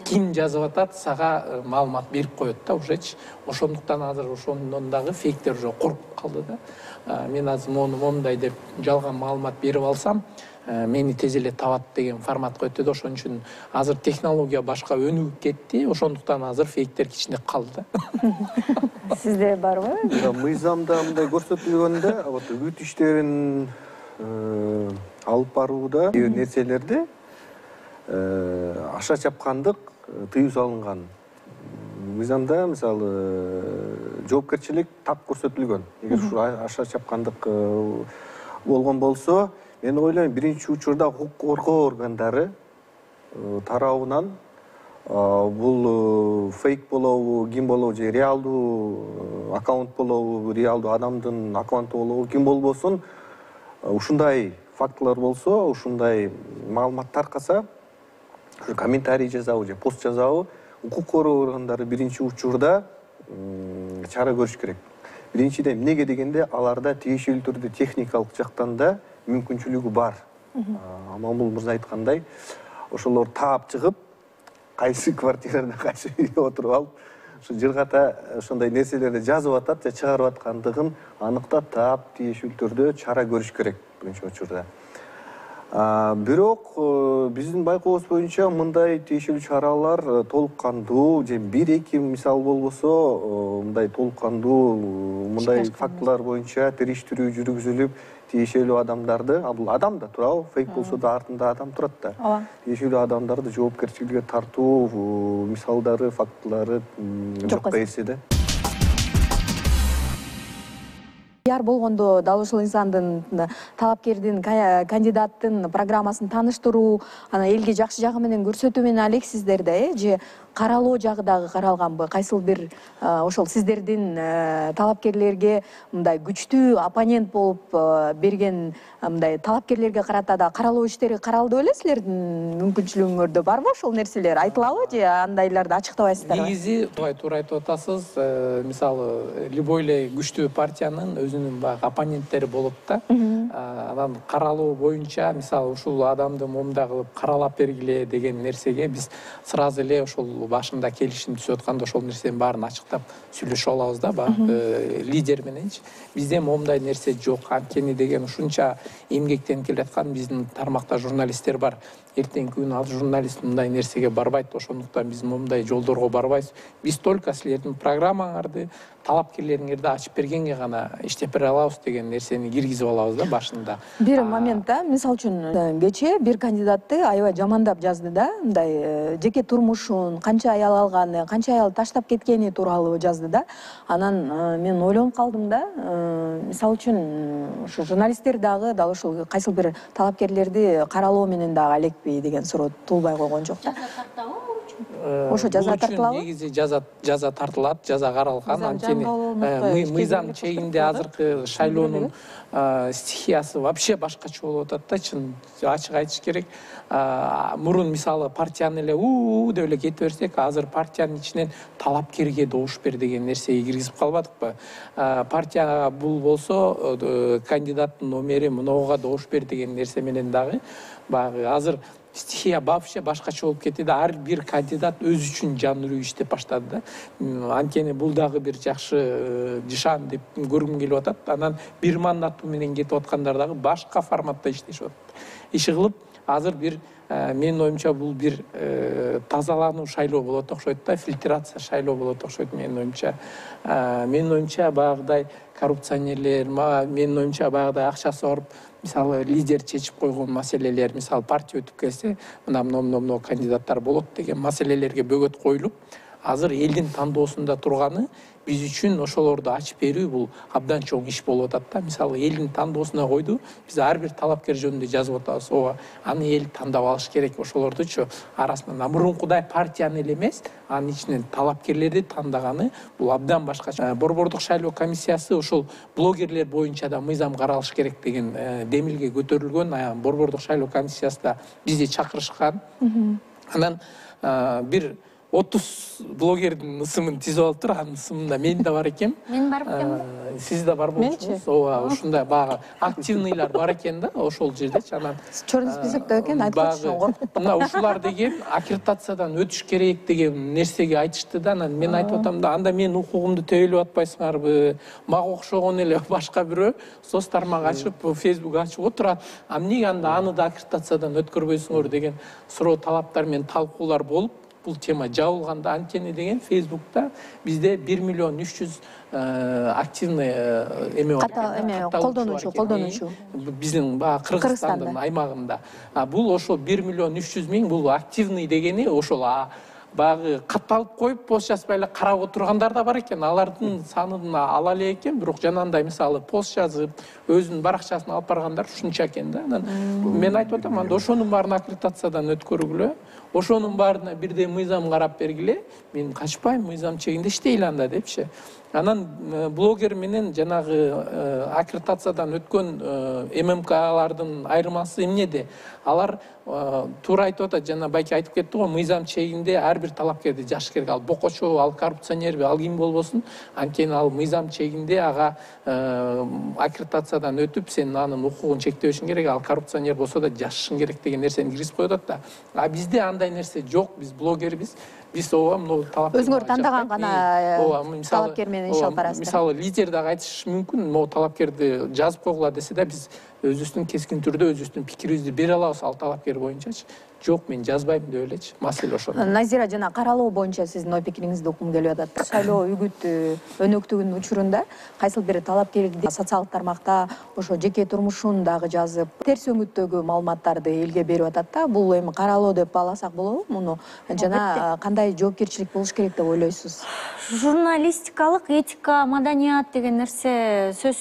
ким жазып атат, сага маалымат берип коет да ужечи. Ошондуктан азыр ошондон дагы фейктер уже коркуп калды да. Мен азыр момундай деп жалган маалымат берип алсам, мени тез эле табат деген форматка өтөдү. Ошон үчүн азыр технология башка өнүгүп кетти. Ошондуктан азыр фейктер кичине калды да. Сизде барбы? Мыйзамда мындай көрсөтүлгөндө, вот үгүт иштерин алып барууда нерселерде аша чапкандык тыюу салынган. Мыйзамда мисалы жоопкерчилик так көрсөтүлгөн. Эгер ушу аша чапкандык болгон болсо, мен ойлойм, биринчи учурда укук коргоо органдары тарабынан бул фейк болобу, ким болобу, же реалдуу аккаунт болобу, реалдуу адамдын аккаунту болобу, ким болбосун, ушундай фактылар болсо, ушундай маалымат таркаса, комментарий жазабы же пост жазабы, укук коргоо органдары биринчи учурда чара көрүш керек. Биринчиден эмнеге дегенде, аларда тиешелүү түрдө техникалык жактан да мүмкүнчүлүгү бар. Мамул мырза айткандай, ошолор таап чыгып, кайсы квартирада кайсы үйдө отуруп алып, ушу жыргата ошондой нерселерди жазып атат же чыгарып аткандыгын аныктап, таап, тиешелүү түрдө чара көрүш керек биринчи учурда. Бирок биздин байкообуз боюнча мындай тиешелүү чаралар толук кандуу же 1-2 мисал болбосо, мындай толук кандуу мындай фактылар боюнча териштирүү жүргүзүлүп, тиешелүү адамдарды, бул адам да туурабы, фейк болсо да артында адам турат да. Тиешелүү адамдарды жоопкерчиликке тартуу мисалдары, фактылары жокко эсе да. Пиар болгондо дал ушул инсандын, талапкердин, кандидаттын программасын тааныштыруу, анан элге жакшы жагы менен көрсөтүү менен алексиздер да, же каралоо жагы дагы каралганбы? Кайсыл бир ошол сиздердин талапкерлерге мындай күчтүү оппонент болуп берген мындай талапкерлерге карата да каралоо иштери каралды беле? Силердин мүмкүнчүлүгүңөрдө барбы ошол нерселер? Айтылабы же андайларды ачыктабайсыздарбы? Негизи туура айтып атасыз. Мисалы, любой эле күчтүү партиянын өзүнүн баягы оппоненттери болот да. Анан каралоо боюнча, мисалы, ушул адамды момундай кылып каралап бергиле деген нерсеге биз сразу эле ошол башында келишим түсүп атканда ошол нерсенин баарын ачыктап сүйлөшүп алабыз да баягы лидер мененчи. Бизде моундай нерсе жок. Анткени деген ушунча эмгектенип келаткан биздин тармакта журналисттер бар. Эртеңки күнү ал журналист мындай нерсеге барбайт, ошондуктан биз моундай жолдорго барбайбыз. Биз только силердин программаңарды, талапкерлериңерди ачып бергенге гана иштеп бере алабыз деген нерсени киргизип алабыз да башында. Бир моментте, мисалы үчүн, кечээ бир кандидатты аябай жамандап жазды да, мындай жеке турмушун, канча аял алганы, канча аял таштап кеткени тууралуу жазды да. Анан мен ойлонуп калдым да, мисалы үчүн ушу журналисттер дагы дал ушул кайсыл бир талапкерлерди каралоо менен дагы алекпи деген суроо туулбай койгон жок да. Ошо жаза тартылабы? Негизи жаза тартылат, жаза каралган. Анткени мыйзам чегинде азыркы шайлоонун стихиясы вообще башкача болуп атат да, чын ачык айтыш керек. Мурун мисалы партияны эле деп эле кете берсек, азыр партиянын ичинен талапкерге добуш бер деген нерсеге киргизип калбадыкпы? Партияга бул болсо кандидаттын номери мынауга добуш бер деген нерсе менен дагы баягы азыр стихия вообще башкача болуп кетти да. Ар бир кандидат өзү үчүн жанруу иштеп баштады да. Анткени бул дагы бир жакшы жишан деп көргүм келип атат. Анан бир мандаты менен кетип аткандар дагы башка форматта иштешип атат. Иши кылып азыр бир менин оюмча бул бир тазалануу шайлоо болот окшойт да, фильтрация шайлоо болот окшойт менин оюмча. Менин оюмча баягыдай коррупционерлер, менин оюмча баягыдай акчасы барып мисалы лидер чечип койгон маселелер, мисалы партия өтүп келсе, мына кандидаттар болот деген маселелерге бөгөт коюлуп, азыр элдин тандоосунда турганы биз үчүн ошолорду ачып берүү бул абдан чоң иш болуп атат да. Мисалы элдин тандоосуна койду, биз ар бир талапкер жөнүндө жазып атабыз. Ооба, аны эл тандап алыш керек, ошолордучу арасынан мурункудай партияны эле эмес, анын ичинен талапкерлерди тандаганы бул абдан башкача. Борбордук шайлоо комиссиясы ошол блогерлер боюнча да мыйзам каралыш керек деген демилге көтөрүлгөн. Борбордук шайлоо комиссиясында бизди чакырышкан. Анан бир 30 блогердин ысымын түзүп алыптыр. Анын ысымында мен да бар экен. Мен бар экенмин. Сиз да бар болчусуз. Ооба, ушундай багы активныйлар бар экен да ошол жердечи. Анан Чорный списокто экен, айтып атышкан. Мына ушулар деген аккредитациядан өтүш керек деген нерсеге айтышты да. Анан мен айтып атам да, анда менин укугумду тебелеп атпайсыңарбы? Мага окшогон эле башка бирөө соц тармак ачып, Facebook ачып отурат. Эмнеге анда аны да аккредитациядан өткөрбөйсүңөр деген суроо талаптар менен талкуулар болуп, бул тема жабылганда. Анткени деген Facebook'та бизде 1.300.000 активный эме бар. Колдонуучу. Биздин баягы Кыргызстандын аймагында. Бул ошол 1.300.000 бул активный дегени ошол баягы катталып коюп пост жазбай эле карап отургандар да бар экен. Алардын санын ала элек экен, бирок жанагындай мисалы пост жазып, өзүнүн баракчасына алып баргандар ушунча экен да. Анан мен айтып атам, анда ошонун баарын аккредитациядан өткөргүлө. Ошонун баарына бирдей мыйзам карап бергиле. Мен качпайм, мыйзам чегинде иштейли анда депчи. Анан блогер менен жанагы аккредитациядан өткөн ММКлардын айырмасы эмнеде? Алар туура айтып атат, жана байке айтып кетти го, мыйзам чегинде ар бир талапкерди жаш керек. Ал бокочо, ал коррупционерби, ал ким болбосун, анткени ал мыйзам чегинде ага аккредитациядан өтүп, сен анын укугун чектебешиң керек, ал коррупционер болсо да жашышың керек деген нерсени киргизип коюп атат да. Бизде андай нерсе жок, биз блогербиз. Биз ооба мына талапкер. Өзүңөр тандаган гана талапкер менен иш алып барасыздар. Мисалы лидер дагы айтышы мүмкүн, могу талапкерди жазып койгула десе да, биз өзүбүздүн кескин түрдө өзүбүздүн пикирибизди бере алабыз ал талапкер боюнчачы. Жок, мен жазбайм деп элечи. Маселе ошол. Назира, жана каралоо боюнча сиздин ой пикириңизди уккум келип атат. Шайлоо үгүт өнөктүгүнүн учурунда кайсыл бир талапкерди социалдык тармакта ошо жеке турмушун дагы жазып, терс өңүттөгү маалыматтарды элге берип атат да. Бул эми каралоо деп бааласак болобу муну? Жана кандай жоопкерчилик болуш керек деп ойлойсуз? Журналистикалык этика, маданият деген нерсе сөз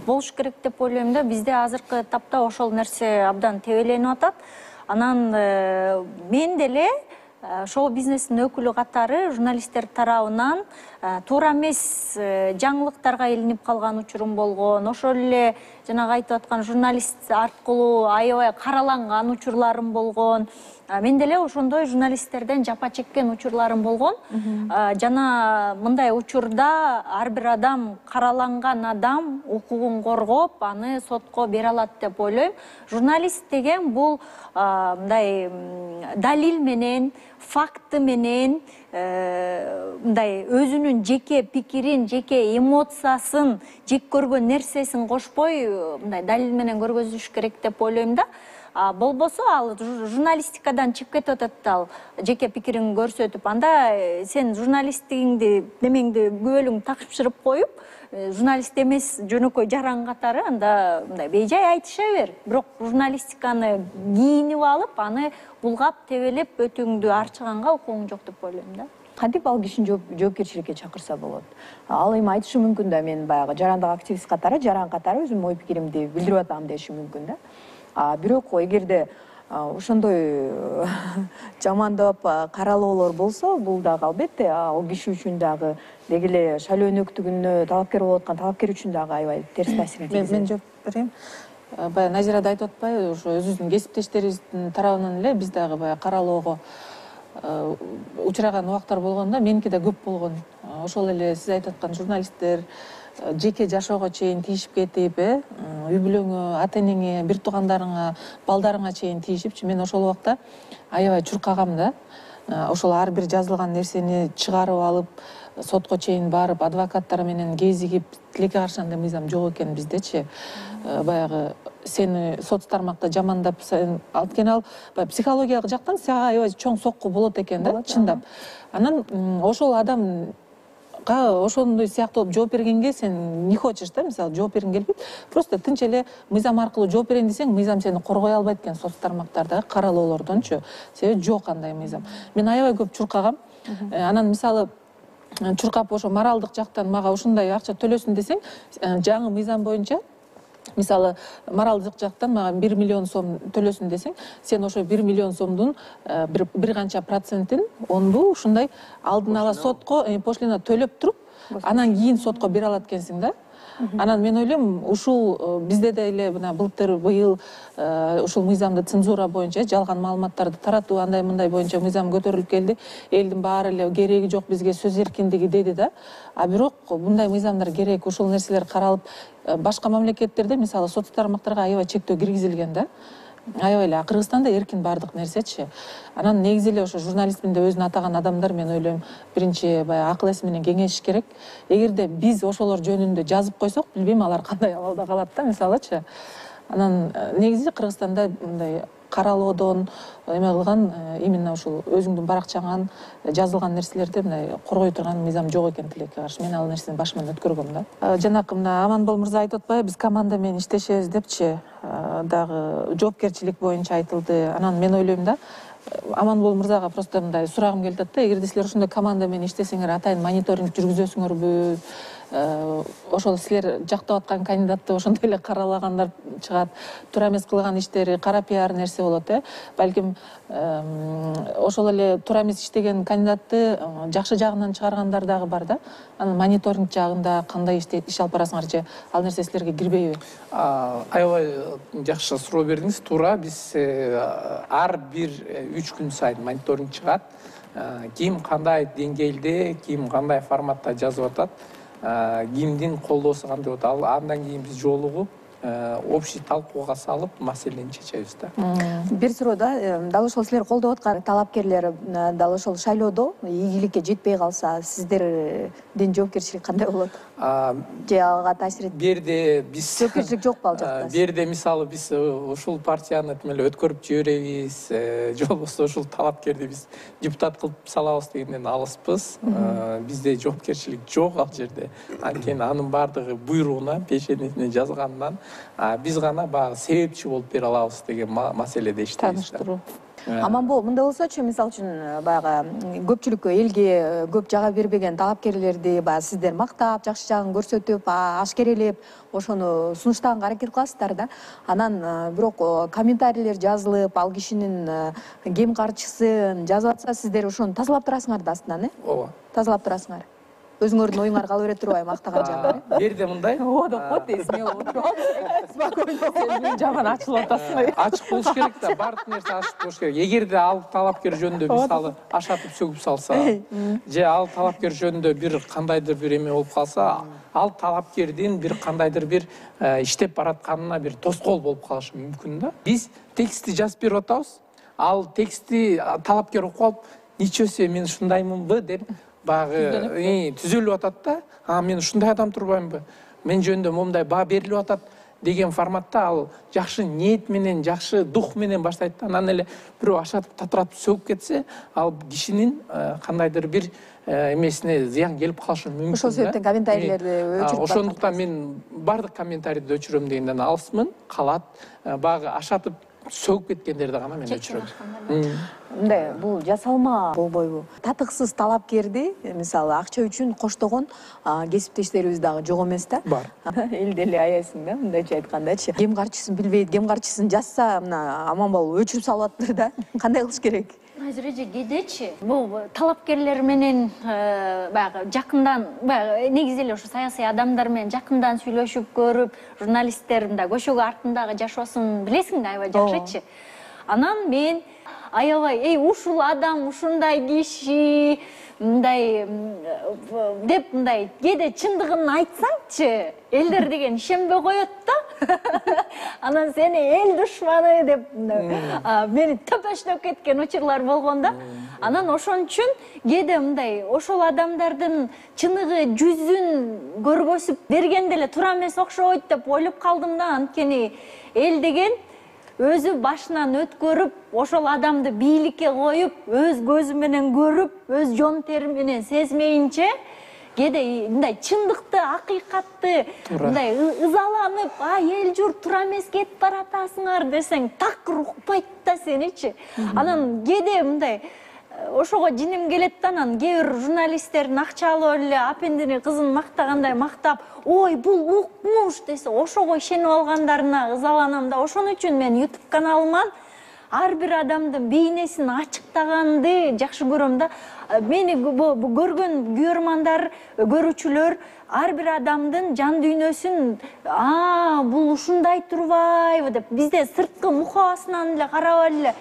болуш керек деп ойлойм да. Бизде азыркы тапта ошол нерсе абдан тебеленип атат. Анан мен деле шоу-бизнестин өкүлү катары журналисттер тарабынан туура эмес жаңылыктарга илинип калган учурум болгон. Ошол эле жанагы айтып аткан журналист аркылуу аябай караланган учурларым болгон. Мен деле ошондой журналисттерден жапа чеккен учурларым болгон. Жана мындай учурда ар бир адам, караланган адам укугун коргоп, аны сотко бере алат деп ойлойм. Журналист деген бул мындай далил менен, факты менен, мындай өзүнүн жеке пикирин, жеке эмоциясын, жек көргөн нерсесин кошпой, мындай далил менен көргөзүш керек деп ойлойм да. Болбосо ал журналистикадан чыгып кетип атат да, ал жеке пикирин көрсөтүп, анда сен журналисттигиңди немеңди күбөлүң такшырып коюп, журналист эмес жөнөкөй жаран катары анда мындай бейжай айтыша бер. Бирок журналистиканы кийинип алып, аны булгап, тебелеп өтүүңдү арчыганга укугуң жок деп ойлойм да. Кантип ал кишини жоопкерчиликке чакырса болот? Ал эми айтышы мүмкүн да, мен баягы жарандык активист катары, жаран катары өзүмдүн ой пикиримди билдирип атам деши мүмкүн да. Бирок эгерде ошондой жамандап каралоолор болсо, бул дагы албетте ал киши үчүн дагы деги эле шайлоо өнөктүгүнө талапкер болуп аткан талапкер үчүн дагы аябай терс таасирин тийгизет. Мен жооп берейин. Баягы Назира да айтып атпайбы, ошо өзүбүздүн кесиптештерибиздин тарабынан эле биз дагы баягы каралоого учураган убактар болгон да, меники да көп болгон. Ошол эле сиз айтып аткан журналисттер жеке жашоого чейин тийишип кетип, үй бүлөңө, ата энеңе, бир туугандарыңа, балдарыңа чейин тийишипчи. Мен ошол убакта аябай чуркагам да. Ошол ар бир жазылган нерсени чыгарып алып, сотко чейин барып, адвокаттар менен кезигип, тилекке каршы андай мыйзам жок экен биздечи. Баягы сени соц тармакта жамандап, анткени ал психологиялык жактан сага аябай чоң сокку болот экен да, чындап. Анан ошол адам ошондой сыяктуу жооп бергенге сен не хочешь да, мисалы жооп бергиң келбейт, просто тынч эле мыйзам аркылуу жооп берейин десең, мыйзам сени коргой албайт экен соц тармактардагы каралоолордончу, себеби жок андай мыйзам. Мен аябай көп чуркагам. Анан мисалы чуркап ошо моралдык жактан мага ушундай акча төлөсүн десең, жаңы мыйзам боюнча мисалы моралдык жактан мага 1 миллион сом төлөсүн десең, сен ошо 1 миллион сомдун бир канча процентин, онду ушундай алдын ала сотко пошлина төлөп туруп, анан кийин сотко бере алат экенсиң да. Анан мен ойлойм, ушул бизде деле мына былтыр быйыл ушул мыйзамды цензура боюнча, жалган маалыматтарды таратуу андай мындай боюнча мыйзам көтөрүлүп келди. Элдин баары эле кереги жок, бизге сөз эркиндиги деди да. Бирок мындай мыйзамдар керек, ушул нерселер каралып, башка мамлекеттерде мисалы соц тармактарга аябай чектөө киргизилген да. Аябай эле Кыргызстанда эркин бардык нерсечи. Анан негизи эле ошо журналистмин деп өзүн атаган адамдар, мен ойлойм, биринчи баягы акыл эси менен кеңешиш керек. Эгерде биз ошолор жөнүндө жазып койсок, билбейм алар кандай абалда калат да, мисалычы. Анан негизи Кыргызстанда мындай каралоодон эме кылган, именно ушул өзүңдүн баракчаңан жазылган нерселерди мындай коргой турган мыйзам жок экен тилекке каршы. Мен ал нерсени башыман өткөргөм да. Жанакы мына Аманбол мырза айтып атпайбы, биз команда менен иштешебиз депчи, дагы жоопкерчилик боюнча айтылды. Анан мен ойлойм да, Аманбол мырзага просто мындай сурагым келип атат да, эгерде силер ушундай команда менен иштесеңер, атайын мониторинг жүргүзөсүңөрбү? Ошол силер жактап аткан кандидатты ошондой эле каралагандар чыгат, туура эмес кылган иштери кара пиар нерсе болот, балким ошол эле туура эмес иштеген кандидатты жакшы жагынан чыгаргандар дагы бар да. Анан мониторинг жагында кандай иш алып барасыңарчы, ал нерсе силерге кирбейби? Аябай жакшы суроо бердиңиз. Туура, биз ар бир 3 күн сайын мониторинг чыгат. Ким кандай деңгээлде, ким кандай форматта жазып атат, кимдин колдоосу кандай болот, андан кийин биз жолугуп общий талкууга салып маселени чечебиз да. Бир суроо да, дал ошол силер колдоп аткан талапкерлер дал ошол шайлоодо ийгиликке жетпей калса, сиздердин жоопкерчилик кандай болот? Же ага таасир этпейт? Бу жерде биз жоопкерчилик жокпу ал жакта? Бу жерде мисалы биз ушул партияны эле өткөрүп жиберебиз, же болбосо ушул талапкерди биз депутат кылып салабыз дегенден алыспыз. Бизде жоопкерчилик жок ал жерде. Анткени анын баардыгы буйругуна, пешенесине жазгандан биз гана баягы себепчи болуп бере алабыз деген маселеде иштейбиз. Таныштыруу. Аманбол, мындай болсочу, мисалы үчүн баягы көпчүлүккө, элге көп жага бербеген талапкерлерди баягы сиздер мактап, жакшы жагын көрсөтүп, ашкерелеп, ошону сунуштаганга аракет кыласыздар да. Анан бирок комментарийлер жазылып, ал кишинин кем карчысын жазып атса, сиздер ошону тазалап турасыңар да астынан, Ооба. Тазалап турасыңар. өзүңөрдүн оюңар кала берет турбайбы мактаган жагы? Берде мындай. Ооба деп коет эсине отуруп алып. Спокойно. Сен жаман ачылып атасың. Ачык болуш керек да, баардык нерсе ачык болуш керек. Эгерде ал талапкер жөнүндө мисалы ашатып сөгүп салса, же ал талапкер жөнүндө бир кандайдыр бир эме болуп калса, ал талапкердин бир кандайдыр бир иштеп баратканына бир тоскоол болуп калышы мүмкүн да. Биз текстти жазып берип атабыз. Ал текстти талапкер окуп алып, ничего себе, мен ушундаймынбы деп баягы түзөлүп атат да. Мен ушундай адам турбаймынбы? Мен жөнүндө момундай баа берилип атат деген форматта ал жакшы ниет менен, жакшы дух менен баштайт да. Анан эле бирөө ашатып татыратып сөгүп кетсе, ал кишинин кандайдыр бир эмесине зыян келип калышы мүмкүн да. Ошол себептен комментарийлерди өчүрүп ошондуктан мен баардык комментарийди өчүрөм дегенден алысмын. Калат баягы ашатып сөгүп кеткендерди гана мен өчүрөм. Мындай, бул жасалма болбойбу? Татыксыз талапкерди, мисалы, акча үчүн коштогон кесиптештерибиз дагы жок эмес да? Бар. Элди эле аяйсың да, мындайча айткандачы. Кем карчысын билбейт, кем карчысын жазса, мына Аманбол өчүрүп салып атыптыр да. Кандай кылыш керек? Азыр эже кедечи бул талапкерлер менен баягы жакындан баягы негизи эле ошо саясий адамдар менен жакындан сүйлөшүп көрүп, журналисттер мындай көшөгө артындагы жашоосун билесиң да, аябай жакшычы. Анан мен аябай ушул адам, ушундай киши мындай деп мындай кээде чындыгын айтсаңчы, элдер деген ишенбей коет да. Анан сени эл душманы деп мени төпөштөп кеткен учурлар болгон да. Анан ошон үчүн кээде мындай ошол адамдардын чыныгы жүзүн көргөзүп бергенде эле туура эмес окшойт деп ойлоп калдым да. Анткени эл деген өзү башынан өткөрүп, ошол адамды бийликке коюп, өз көзү менен көрүп, өз жон тери менен сезмейинче, кээде мындай чындыкты, акыйкатты мындай ызаланып, эл журт туура эмес кетип баратасыңар десең, такыр укпайт да сеничи. Анан кээде мындай ошого жиним келет да. Анан кээ бир журналисттердин акча алып эле апендини кызын мактагандай мактап, ой бул укмуш десе, ошого ишенип алгандарына ызаланам да. Ошон үчүн мен YouTube каналыман ар бир адамдын бейнесин ачыктаганды жакшы көрөм да. Мени көргөн көрөрмандар, көрүүчүлөр ар бир адамдын жан дүйнөсүн бул ушундай турбайбы деп бизде сырткы мукабасынан эле карап эле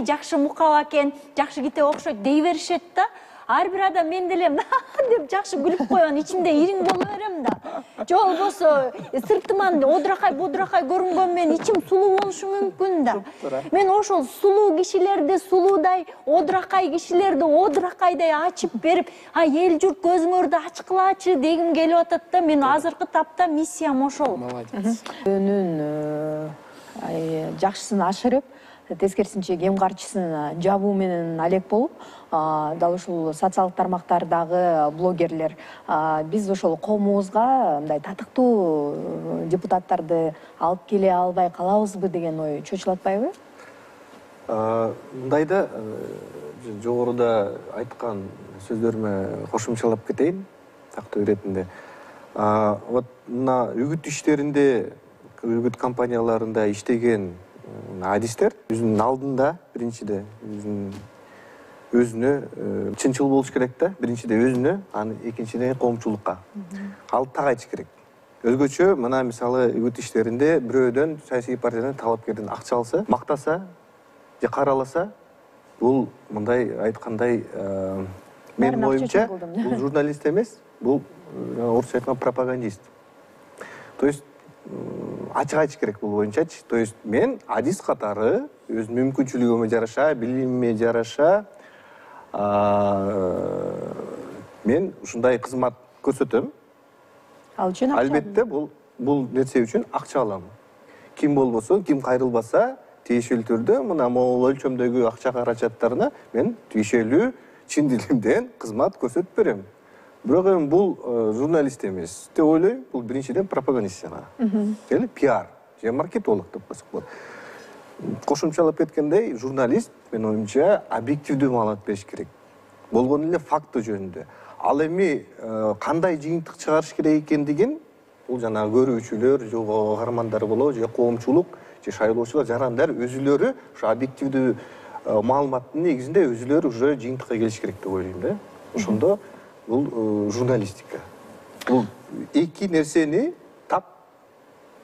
жакшы мукаба экен, жакшы китеп окшойт дей беришет да. Ар бир адам мен деле деп жакшы күлүп койгон, ичимде ириң боло берем да. Же болбосо сыртыман одуракай бодуракай көрүнгөн мен ичим сулуу болушу мүмкүн да. Мен ошол сулуу кишилерди, сулуудай одуракай кишилерди одуракайдай ачып берип, эл журт көзүңөрдү ачкылачы дегим келип атат да. Мен азыркы тапта миссиям ошол. Молодец. Өнүн жакшысын ашырып, тескерисинче кем карчысын жабуу менен алек болуп, дал ушул социалдык тармактардагы блогерлер биз ошол коомубузга мындай татыктуу депутаттарды алып келе албай калабызбы деген ой чочулатпайбы? Мындай да, жогоруда айткан сөздөрүмө кошумчалап кетейин тактоо иретинде. Вот мына үгүт иштеринде, үгүт компанияларында иштеген адистер өзүнүн алдында биринчиде өзүнө чынчыл болуш керек да. Биринчиде өзүнө, анан экинчиден коомчулукка. Ал так айтыш керек. Өзгөчө мына мисалы үгүт иштеринде бирөөдөн саясий партиядан талапкерден акча алса, мактаса же караласа, бул мындай айткандай менин оюмча бул журналист эмес, бул орусча айтканда пропагандист. То есть ачык айтыш керек бул боюнчачы. То есть мен адис катары өз мүмкүнчүлүгүмө жараша, билимиме жараша мен ушундай кызмат көрсөтөм. Ал үчүн акча. Албетте бул нерсе үчүн акча алам. Ким болбосо, ким кайрылбаса, тиешелүү түрдө мына могул өлчөмдөгү акча каражаттарына мен тиешелүү чын дилимден кызмат көрсөтүп берем. Бирок эми бул журналист эмес деп ойлойм. Бул биринчиден пропагандист жана. Эле пиар же маркетолог деп койсок болот. Кошумчалап кеткендей, журналист менин оюмча объективдүү маалымат бериш керек. Болгон эле факты жөнүндө. Ал эми кандай жыйынтык чыгарыш керек экендигин бул жанагы көрүүчүлөр, же каармандар болобу, же коомчулук, же шайлоочулар, жарандар өзүлөрү ушу объективдүү маалыматтын негизинде өзүлөрү уже жыйынтыкка келиш керек деп ойлойм да. Ошондо бул журналистика. Бул эки нерсени тап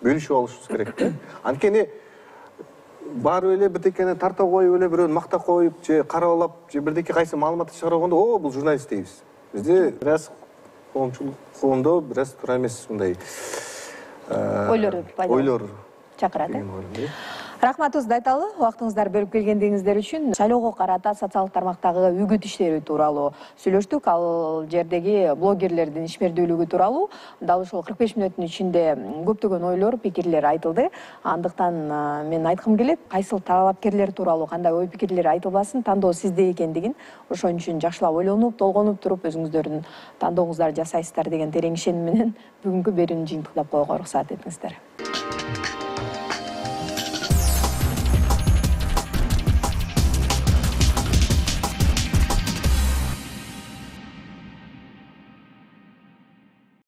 бөлүшүп алышыбыз керек да. Анткени барып эле бирдекени тарта коюп эле бирөөнү макта коюп же карабалап же бирдеке кайсы маалыматты чыгарганда о бул журналист дейбиз. Бизде бир аз коомдо бир аз туура эмес мындай ойлор чакырат. Рахматыбызды айталы, убактыңыздар бөлүп келгендигиңиздер үчүн. Шайлоого карата социалдык тармактагы үгүт иштери тууралуу сүйлөштүк. Ал жердеги блогерлердин ишмердүүлүгү тууралуу дал ушул 45 мүнөттүн ичинде көптөгөн ойлор, пикирлер айтылды. Андыктан мен айткым келет, кайсыл талапкерлер тууралуу кандай ой пикирлер айтылбасын, тандоо сизде экендигин, ошон үчүн жакшылап ойлонуп, толгонуп туруп өзүңүздөрдүн тандооңуздарды жасайсыздар деген терең ишеним менен бүгүнкү берүүнү жыйынтыктап коюуга уруксаат этиңиздер.